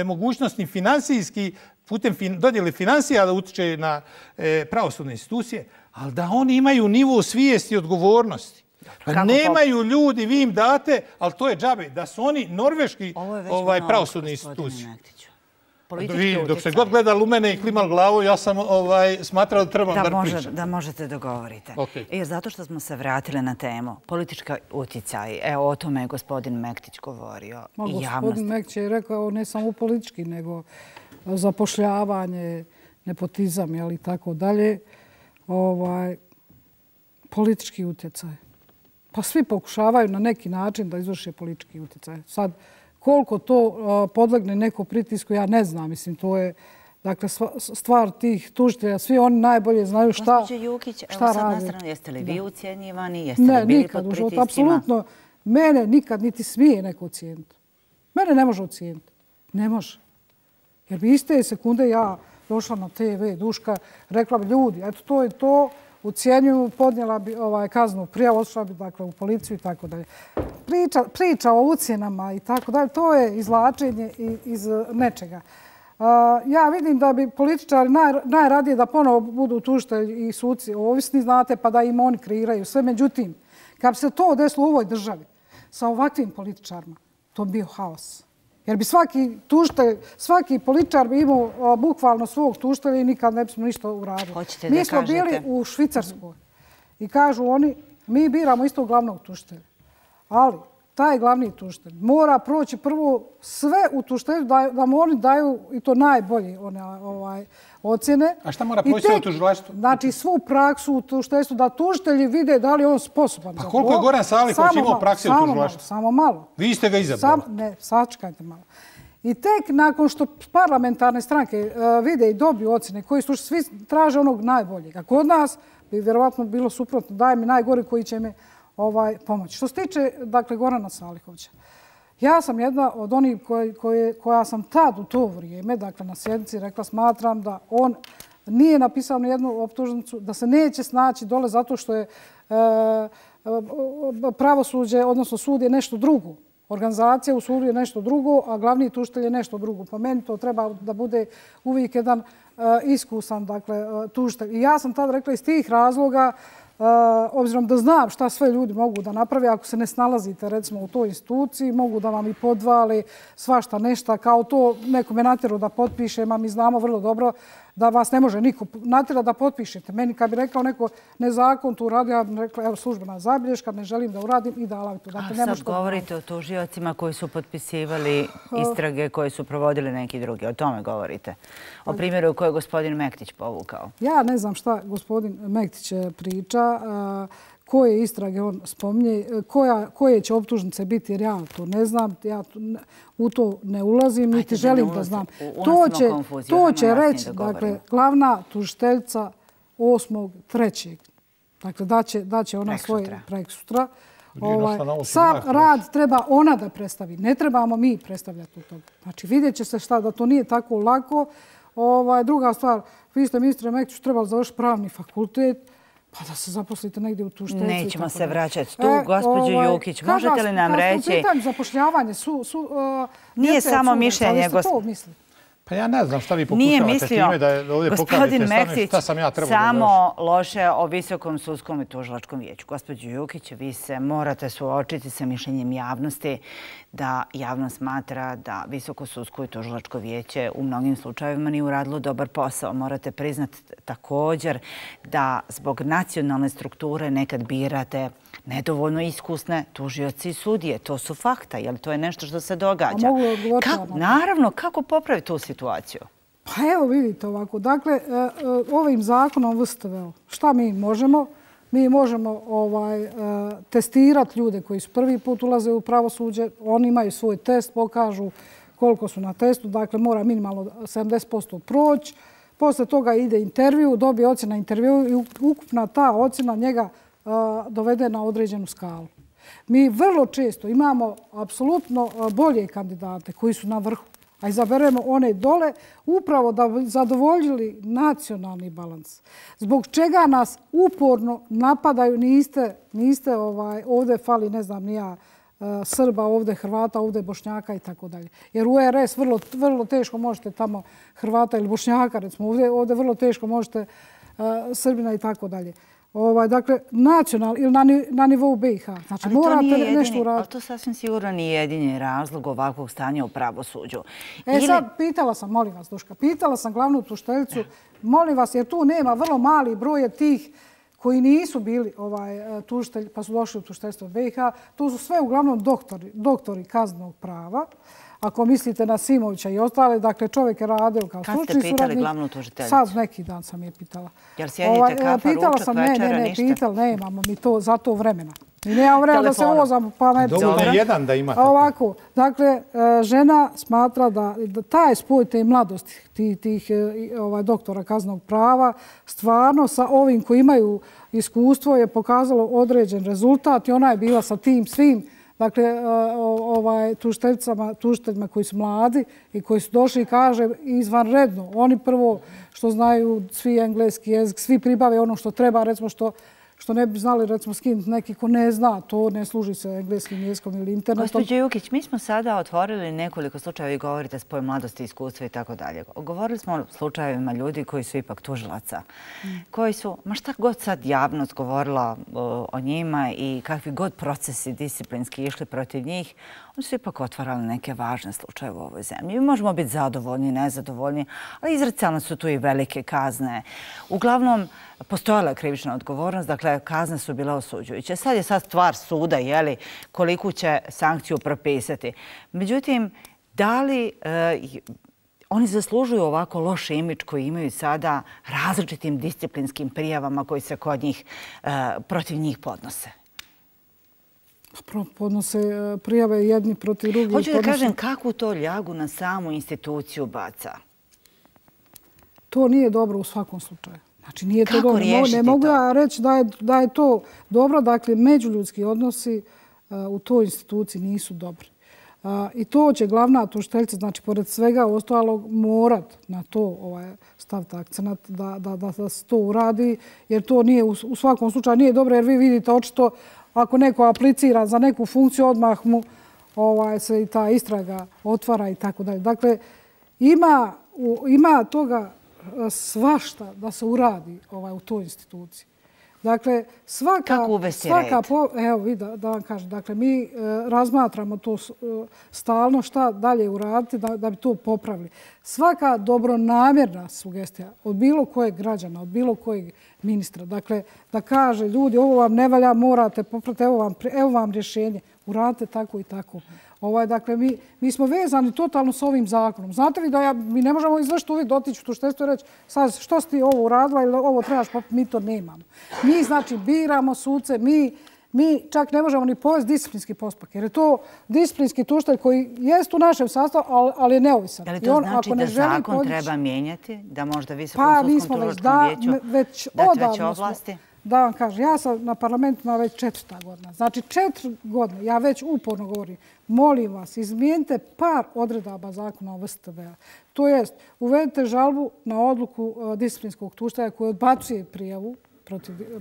mogućnost ni finansijski putem dodjele financija da utiče na pravosudne institucije, ali da oni imaju nivo svijesti i odgovornosti. Pa nemaju ljudi, vi im date, ali to je džabe, da su oni norveški pravosudne institucije. Dok ste god gledali u mene i klimali glavu, ja sam smatrao da trebam da pričam. Da možete dogovorite. Zato što smo se vratili na temu, politička utjecaj, evo o tome je gospodin Mektić govorio. Gospodin Mektić je rekao ne samo politički, nego zapošljavanje, nepotizam i tako dalje. Politički utjecaj. Pa svi pokušavaju na neki način da izvrše politički utjecaj. Sad, koliko to podlegne neko pritisku, ja ne znam. Mislim, to je stvar tih tužitelja. Svi oni najbolje znaju šta rade. Gospođo Jukić, evo sad na stranu, jeste li vi ucijenjivani? Jeste li bili pod pritiscima? Apsolutno. Mene nikad niti smije neko ucijeniti. Mene ne može ucijeniti. Ne može. Jer bi iste sekunde ja došla na TV, Duška, rekla bi ljudi, eto to je to, ucijenjuju, podnijela bi kaznu prijavu, otišla bi u policiju i tako dalje. Priča o ucijenama i tako dalje, to je izvlačenje iz nečega. Ja vidim da bi političari najradije da ponovo budu tužitelji i suci ovisni, znate, pa da im oni kreiraju sve. Međutim, kad bi se to desilo u ovoj državi sa ovakvim političarima, to bi bio haos. Jer bi svaki političar bi imao bukvalno svog tužitelja i nikad ne bismo ništa uradili. Mi smo bili u Švicarskoj i kažu oni, mi biramo isto glavnog tužitelja. Ali taj glavni tužitelj mora proći prvo sve u tužitelju da mu oni daju i to najbolje ocjene. A šta mora proći u tužilaštvu? Znači svu praksu u tužiteljstvu, da tužitelji vide da li je on sposoban za to. Pa koliko je Goran Salihović imao prakse u tužilaštvu? Samo malo. Vi ste ga izabrali. Ne, sačekajte malo. I tek nakon što parlamentarne stranke vide i dobiju ocjene koji su svi traže onog najboljeg. A kod nas bi vjerovatno bilo suprotno. Daj mi najgori koji će me pomoći. Što se tiče Gorana Salihovića, ja sam jedna od onih koja sam tad u to vrijeme, na sjednici rekla, smatram da on nije napisao ni jednu optužnicu, da se neće snaći dole zato što je pravosuđe, odnosno sud je nešto drugo. Organizacija u sudu je nešto drugo, a glavni tužitelj je nešto drugo. Po meni to treba da bude uvijek jedan iskusan tužitelj. I ja sam tad rekla iz tih razloga, obzirom da znam šta sve ljudi mogu da naprave, ako se ne snalazite recimo u toj instituciji, mogu da vam i podvali svašta nešto, kao to nekome natjeru da potpišem, a mi znamo vrlo dobro da vas ne može niko natjera da potpišete. Meni kad bi rekao neko nezakon tu radi, ja bih rekla evo službena zabilješka, ne želim da uradim i dala bi to. A sad govorite o tužiocima koji su potpisivali istrage koje su provodili neki drugi. O tome govorite. O primjeru koje je gospodin Mektić povukao. Ja ne znam šta gospodin Mektić priča, koje istrage on spominje, koje će optužnice biti, jer ja to ne znam, ja u to ne ulazim, niti želim da znam. To će reći, glavna tužiteljica 8.3. Dakle, daće ona svoje preksutra. Sam rad treba ona da predstavi, ne trebamo mi predstavljati u toga. Znači, vidjet će se šta, da to nije tako lako. Druga stvar, vi ste ministre Mektiću trebali završiti pravni fakultet, pa da se zaposlite negdje u tužiteljstvu. Nećemo se vraćati tu, gospođo Jukić. Možete li nam reći... Pitanju zapošljavanje nije samo mišljenje, gospodine. Pa ja ne znam šta vi pokušavate time da ovdje pokažete šta sam ja trebao da završim. Samo loše o Visokom sudskom i tužilačkom vijeću. Gospođo Jukić, vi se morate suočiti sa mišljenjem javnosti da javnost smatra da Visoko sudsko i tužilačko vijeće u mnogim slučajevima nije uradilo dobar posao. Morate priznati također da zbog nacionalne strukture nekad birate nedovoljno iskusne tužioci i sudije. To su fakta, jer to je nešto što se događa. Naravno, kako popraviti tu situaciju? Pa evo vidite ovako. Dakle, ovim zakonom VSTV, šta mi možemo? Mi možemo testirati ljude koji su prvi put ulaze u pravosuđe. Oni imaju svoj test, pokažu koliko su na testu. Dakle, mora minimalno 70% proći. Posle toga ide intervju, dobije ocjena intervju i ukupna ta ocjena njega dovede na određenu skalu. Mi vrlo često imamo apsolutno bolje kandidate koji su na vrhu, a izaberemo one dole upravo da bi zadovoljili nacionalni balans. Zbog čega nas uporno napadaju, niste ovdje fali, ne znam, ni ja, Srba, ovdje Hrvata, ovdje Bošnjaka i tako dalje. Jer u RS vrlo teško možete tamo Hrvata ili Bošnjaka, recimo, ovdje vrlo teško možete Srbina i tako dalje. Dakle, nacional ili na nivou BiH. Znači, morate nešto uraditi. Ali to sasvim sigurno nije jedini razlog ovakvog stanja u pravosuđu. Sad, pitala sam, molim vas, Duška, pitala sam glavnu tužiteljicu, molim vas, jer tu nema vrlo mali broj tih koji nisu bili tužitelji, pa su došli u tužiteljstvo BiH. Tu su sve uglavnom doktori kaznenog prava. Ako mislite na Simovića i ostale, dakle čovjek je radio kao stručni suradnik. Kad ste pitali glavnu tužiteljicu? Sad neki dan sam je pitala. Jel sjedite kafa, ručak, večera, ništa? Pitala, nemamo mi to za to vremena. Mi nemamo vremena da se vozamo pa ne... Dovoljno je jedan da imate. Ovako, dakle, žena smatra da taj spoj te mladosti tih doktora kaznenog prava stvarno sa ovim koji imaju iskustvo je pokazalo određen rezultat i ona je bila sa tim svim dakle, tužiteljima koji su mladi i koji su došli i kaže izvanredno. Oni prvo što znaju svi engleski jezik, svi pribave ono što treba, recimo što ne bi znali, recimo, skinuti neki ko ne zna, to ne služi se engleskim jezikom ili internetom. Gospođo Jukić, mi smo sada otvorili nekoliko slučajeva i govorite spoj mladosti, iskustva i tako dalje. Govorili smo o slučajevima ljudi koji su ipak tužilaca, koji su, ma šta god sad javnost govorila o njima i kakvi god procesi disciplinski išli protiv njih, oni su ipak otvarali neke važne slučaje u ovoj zemlji. Mi možemo biti zadovoljni, nezadovoljni, ali izricalne su tu i velike kazne. Uglavnom, postojala je krivična odgovornost, dakle, kazne su bile osuđujuće. Sad je stvar suda, koliku će sankciju propisati. Međutim, da li oni zaslužuju ovako loš imidž koji imaju sada različitim disciplinskim prijavama koji se kod njih, protiv njih podnose? Podnose prijave jedni protiv drugih. Hoću da kažem kakvu to ljagu na samu instituciju baca. To nije dobro u svakom slučaju. Znači, nije to dobro. Ne mogu ja reći da je to dobro. Dakle, međuljudski odnosi u toj instituciji nisu dobri. I to će glavna tužiteljica, znači, pored svega ostalog, morat na to staviti akcenat da se to uradi, jer to nije u svakom slučaju nije dobro, jer vi vidite očito ako neko aplicira za neku funkciju, odmah mu se i ta istraga otvara i tako dalje. Dakle, ima toga svašta da se uradi u toj instituciji. Dakle, kako uvesti red? Evo, da vam kažem. Dakle, mi razmatramo to stalno šta dalje uraditi da bi to popravili. Svaka dobronamjerna sugestija od bilo kojeg građana, od bilo kojeg ministra, dakle, da kaže ljudi, ovo vam ne valja, morate popraviti, evo vam rješenje, uradite tako i tako. Dakle, mi smo vezani totalno s ovim zakonom. Znate li da mi ne možemo izvršiti uvijek dotići u tužiteljstvo i reći sad što si ti ovo uradila ili ovo trebaš popiti, mi to nemamo. Mi, znači, biramo suce, mi čak ne možemo ni povesti disciplinski postupak, jer je to disciplinski tužitelj koji jest u našem sastavu, ali je neovisan. Da li to znači da zakon treba mijenjati? Da možda Visokom sudskom tužilačkom vijeću dati veće ovlasti? Da vam kažem, ja sam na parlamentima već 4. godina. Znači 4 godine, ja već uporno govorim, molim vas, izmijenite par odredaba zakona o VSTB-a. To jest, uvedite žalbu na odluku disciplinskog tužitelja koji odbacuje prijavu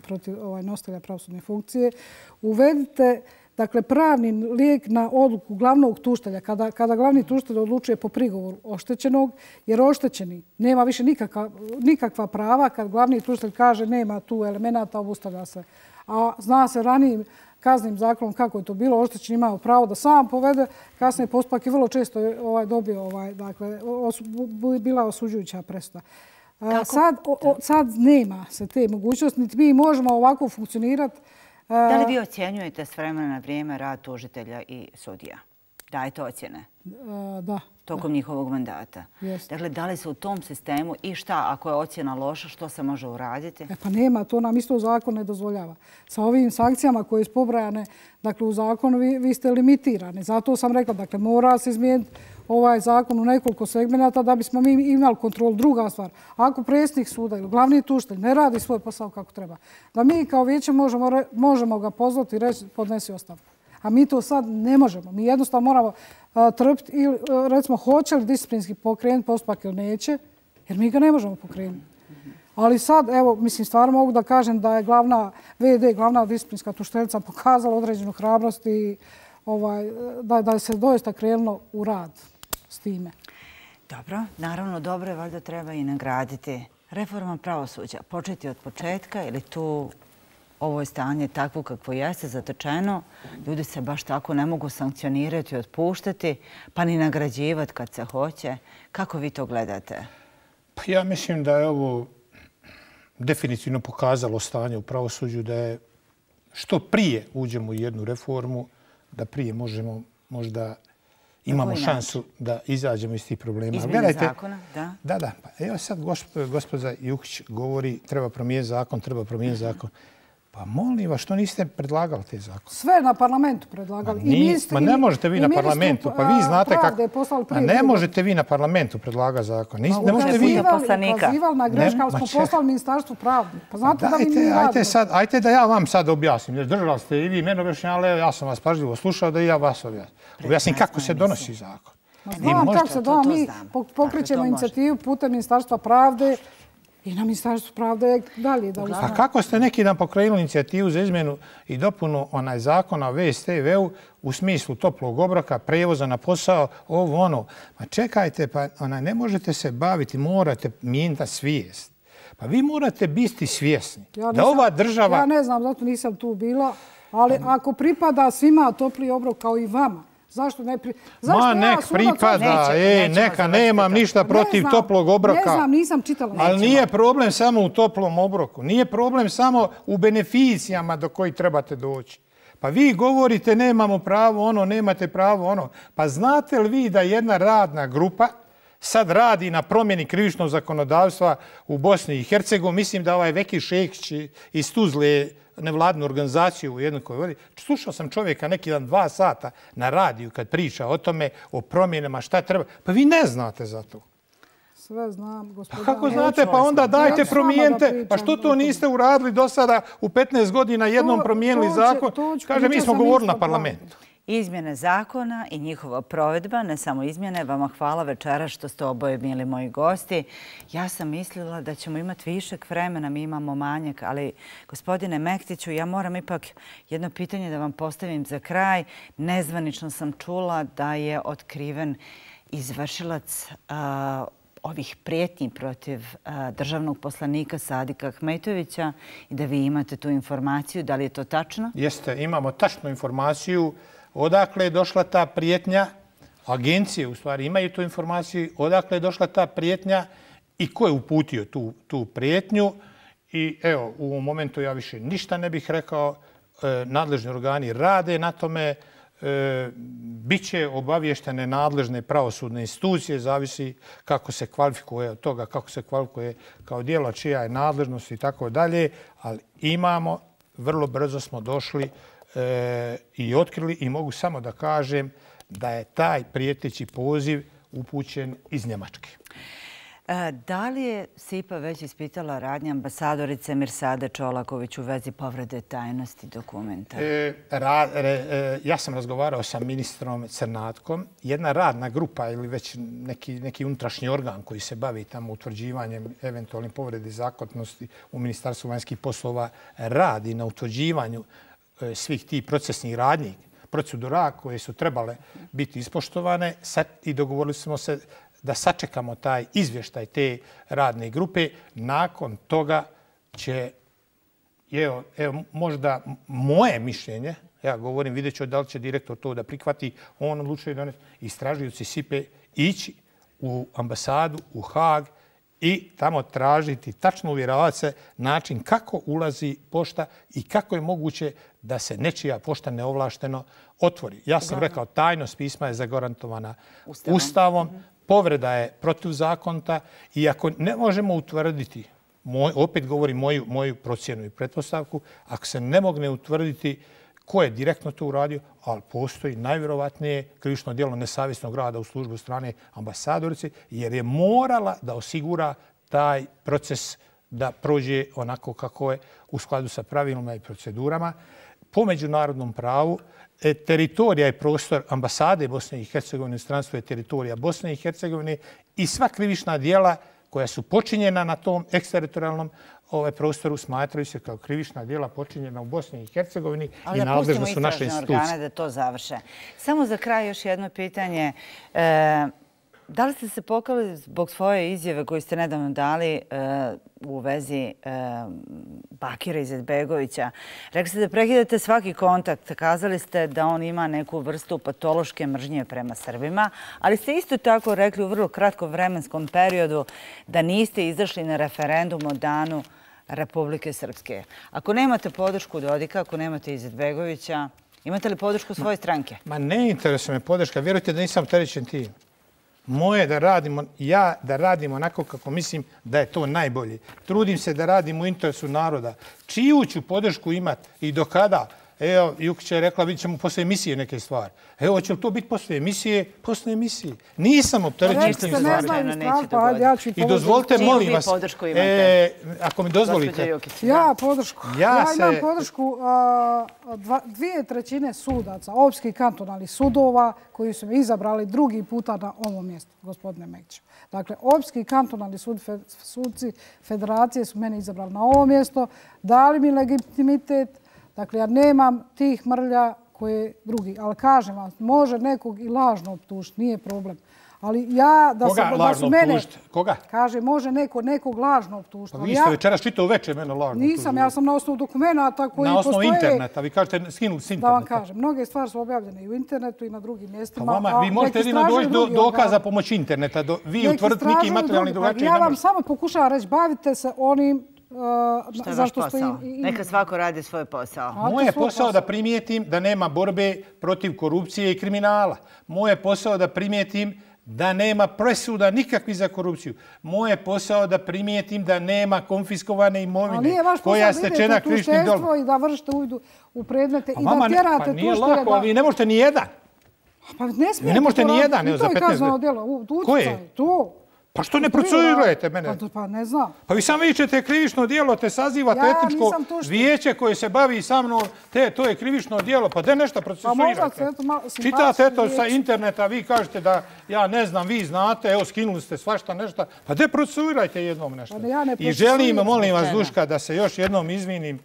protiv nositelja pravosudne funkcije. Uvedite, dakle, pravni lijek na odluku glavnog tužitelja, kada glavni tužitelj odlučuje po prigovoru oštećenog, jer oštećeni nema više nikakva prava kad glavni tužitelj kaže nema tu elemenata, obustavlja se. A zna se ranijim kaznim zakonom kako je to bilo, oštećeni imao pravo da sam povede, kasnije postupak i vrlo često je dobio, dakle, bila osuđujuća presuda. Sad nema se te mogućnosti, niti mi možemo ovako funkcionirati. Da li vi ocjenjujete s vremena na vrijeme rad tužitelja i sudija? Dajete ocjene? Da. Tokom njihovog mandata? Dakle, da li se u tom sistemu i šta, ako je ocjena loša, što se može uraditi? Pa nema, to nam isto zakon ne dozvoljava. Sa ovim sankcijama koje su pobrajane, dakle, u zakonu vi ste limitirani. Zato sam rekla, dakle, mora se izmijeniti ovaj zakon u nekoliko segmenata da bismo mi imali kontrolu. Druga stvar, ako predsjednik suda ili glavni tužitelj ne radi svoj posao kako treba, da mi kao vijeće možemo ga pozvati i reći podnesi ostavku. A mi to sad ne možemo. Mi jednostavno moramo trpiti ili recimo hoće li disciplinski pokrenuti postupak ili neće, jer mi ga ne možemo pokrenuti. Ali sad, evo, mislim, stvarno mogu da kažem da je glavna disciplinska tužiteljica pokazala određenu hrabrost i da se doista krenulo u rad s time. Dobro, naravno dobro je, valjda treba i nagraditi. Reforma pravosuđa, početi od početka ili tu ovo je stanje takvo kakvo jeste, zatečeno, ljudi se baš tako ne mogu sankcionirati i otpuštati, pa ni nagrađivati kad se hoće. Kako vi to gledate? Pa ja mislim da je ovo definitivno pokazalo stanje u pravosuđu, da je što prije uđemo u jednu reformu, da prije možemo možda imamo šansu da izađemo iz tih problema. Izmjene zakona, da? Da. Evo sad gospođa Jukić govori treba promijeniti zakon. Pa molim vas, što niste predlagali te zakone? Sve na parlamentu predlagali. Ma ne možete vi na parlamentu, pa vi znate kako... Ne možete vi na parlamentu predlagati zakon. Ne možete vi... Ukazivali na greška, ali smo poslali Ministarstvu pravde. Pa znate da vi nije radili. Ajte da ja vam sad objasnim. Držali ste i vi mene objašnjali, ja sam vas pažljivo slušao da i ja vas objasnim. Objasnim kako se donosi zakon. Znam kako se donosi. Mi pokrećemo inicijativu putem Ministarstva pravde i na Ministarstvu pravde je dalje da uzmano. A kako ste neki dan pokrenuli inicijativu za izmjenu i dopunu zakona o VSTV-u u smislu toplog obroka, prevoza na posao, ovo ono? Ma čekajte, pa ne možete se baviti, morate mijenjati svijest. Pa vi morate biti svjesni da ova država... Ja ne znam, zato nisam tu bila, ali ako pripada svima topli obrok kao i vama, zašto ne Ma nek pripada, neka, nemam ništa protiv toplog obroka. Ne znam, nisam čitala. Ali nije problem samo u toplom obroku. Nije problem samo u beneficijama do kojih trebate doći. Pa vi govorite nemamo pravo ono, nemate pravo ono. Pa znate li vi da jedna radna grupa sad radi na promjeni krivičnog zakonodavstva u Bosni i Hercegovini? Mislim da ovaj Veki Šekić iz Tuzle, nevladnu organizaciju u jednoj koji vodi. Slušao sam čovjeka neki dan 2 sata na radiju kad priča o tome, o promjenama, šta treba. Pa vi ne znate za to. Sve znam, gospodine. Pa kako znate? Pa onda dajte promijenite. Pa što to niste uradili do sada u 15 godina jednom promijenili zakon? Kaže, mi smo govorili na parlamentu. Izmjene zakona i njihova provedba, ne samo izmjene, vama hvala večera što ste oboje bili moji gosti. Ja sam mislila da ćemo imati višeg vremena, mi imamo manjak, ali gospodine Mektiću, ja moram ipak jedno pitanje da vam postavim za kraj. Nezvanično sam čula da je otkriven izvršilac ovih prijetnji protiv državnog poslanika Sadika Ahmetovića i da vi imate tu informaciju. Da li je to tačno? Jeste, imamo tačnu informaciju. Odakle je došla ta prijetnja? Agencije u stvari imaju tu informaciju. Odakle je došla ta prijetnja i ko je uputio tu prijetnju? I evo, u ovom momentu ja više ništa ne bih rekao. Nadležni organi rade na tome. Biće obavještene nadležne pravosudne institucije, zavisi kako se kvalifikuje od toga, kako se kvalifikuje kao djelo, čija je nadležnost i tako dalje. Ali imamo, vrlo brzo smo došli i otkrili i mogu samo da kažem da je taj prijeteći poziv upućen iz Njemačke. Da li je SIPA već ispitala radnje ambasadorice Mirsade Čolaković u vezi povrede tajnosti dokumenta? Ja sam razgovarao sa ministrom Crnatkom. Jedna radna grupa ili već neki unutrašnji organ koji se bavi tamo utvrđivanjem eventualnih povrede zakonitosti u Ministarstvu vanjskih poslova radi na utvrđivanju svih tih procesnih radnji, procedura koje su trebale biti ispoštovane i dogovorili smo se da sačekamo taj izvještaj te radne grupe. Nakon toga će, evo, možda moje mišljenje, ja govorim, vidjet ću da li će direktor to da prihvati, on odlučuje doneti, istražujući SIPE ići u ambasadu, u Haag i tamo tražiti, tačno uvjeravati se način kako ulazi pošta i kako je moguće da se nečija pošta neovlašteno otvori. Ja sam rekao, tajnost pisma je zagarantovana Ustavom. Povreda je protivzakonita i ako ne možemo utvrditi, opet govorim moju procjenu i pretpostavku, ako se ne mogne utvrditi ko je direktno to uradio, ali postoji najvjerovatnije krivično djelo nesavjesnog rada u službi strane ambasadorice, jer je morala da osigura taj proces da prođe onako kako je u skladu sa pravilima i procedurama. Po međunarodnom pravu teritorija je prostor ambasade Bosne i Hercegovine, stranstvo je teritorija Bosne i Hercegovine i sva krivična djela koja su počinjena na tom eksteritorijalnom prostoru smatraju se kao krivična djela počinjena u Bosni i Hercegovini i nadležno su naše institucije. Ali da pustimo istražne organe da to završe. Samo za kraj još jedno pitanje. Da li ste se pokali zbog svoje izjave koju ste nedavno dali u vezi Bakira Izetbegovića? Rekli ste da prekidate svaki kontakt. Kazali ste da on ima neku vrstu patološke mržnje prema Srbima, ali ste isto tako rekli u vrlo kratkom vremenskom periodu da niste izašli na referendum o danu Republike Srpske. Ako nemate podršku Dodika, ako nemate Izetbegovića, imate li podršku svoje stranke? Ma ne interesuje me podrška. Vjerujte da nisam opterećen tim. Moje da radimo onako kako mislim da je to najbolje. Trudim se da radim u interesu naroda. Čiju ću podršku imati i do kada? Evo, Jukić je rekla, vidit ćemo posle emisije neke stvari. Evo, će li to biti posle emisije? Posle emisije. Nisam opterećen s tim stvarima. I dozvolite, molim vas, ako mi dozvolite. Ja podršku. Ja imam podršku 2/3 sudaca, opskih kantonalnih sudova koji su me izabrali drugi puta na ovom mjestu, gospodine Mekiću. Dakle, opski kantonalni sudci federacije su mene izabrali na ovo mjesto, dali mi legitimitet. Dakle, ja nemam tih mrlja koje drugi. Ali kažem vam, može nekog i lažno optužiti, nije problem. Ali ja da su mene... Koga? Kaže, može nekog lažno optužiti. Pa vi ste večeras čitao uveče mene lažno optužiti. Nisam, ja sam na osnovu dokumenta koji postoje... Na osnovu interneta, vi kažete skinuli s interneta. Da vam kažem, mnoge stvari su objavljene i u internetu i na drugim mjestima. Pa vama, vi možete jedino doći do dokaza pomoći interneta. Vi utvrditi neki materijalni drugačiji. Ja vam samo pokušavam reći, bavite se onim što je vaš posao? Neka svako radi svoj posao. Moje je posao da primijetim da nema borbe protiv korupcije i kriminala. Moje je posao da primijetim da nema presuda nikakvi za korupciju. Moje je posao da primijetim da nema konfiskovane imovine koja je stečena krivičnim djelom. Ali nije vaš posao da idete u tužiteljstvo i da vršite uvid u predmete i da tjerate tužitelja. Pa nije lako, vi ne možete ni jedan. Pa ne smijete ne možete ni jedan, evo za 15 djela. Koje? To. Pa što ne procesuirujete mene? Pa ne znam. Pa vi samo vičete krivično djelo, te sazivate etničko vijeće koje se bavi sa mnom, to je krivično djelo, pa de nešto procesuirate. Čitate eto sa interneta, vi kažete da ja ne znam, vi znate, evo skinuli ste svašta nešto, pa de procesuirajte jednom nešto. I želim, molim vas Duška, da se još jednom izvinim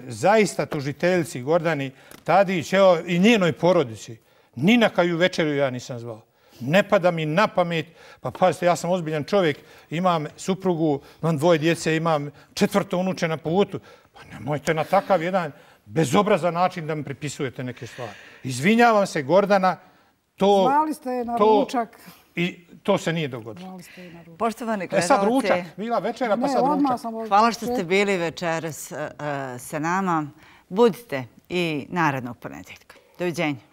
zaista tužiteljci Gordani Tadić, evo i njenoj porodici. Ni na koju večeru ja nisam zvao. Ne pada mi na pamet, pa pazite, ja sam ozbiljan čovjek, imam suprugu, imam 2 djece, imam 4. unuče na putu. Pa nemojte na takav jedan bezobrazan način da mi pripisujete neke stvari. Izvinjavam se, Gordana, to... Zvali ste je na ručak. I to se nije dogodilo. Poštovani gledalci... Sad ručak, bila večera, pa sad ručak. Hvala što ste bili večeras sa nama. Budite i narednog ponedjeljka. Doviđenja.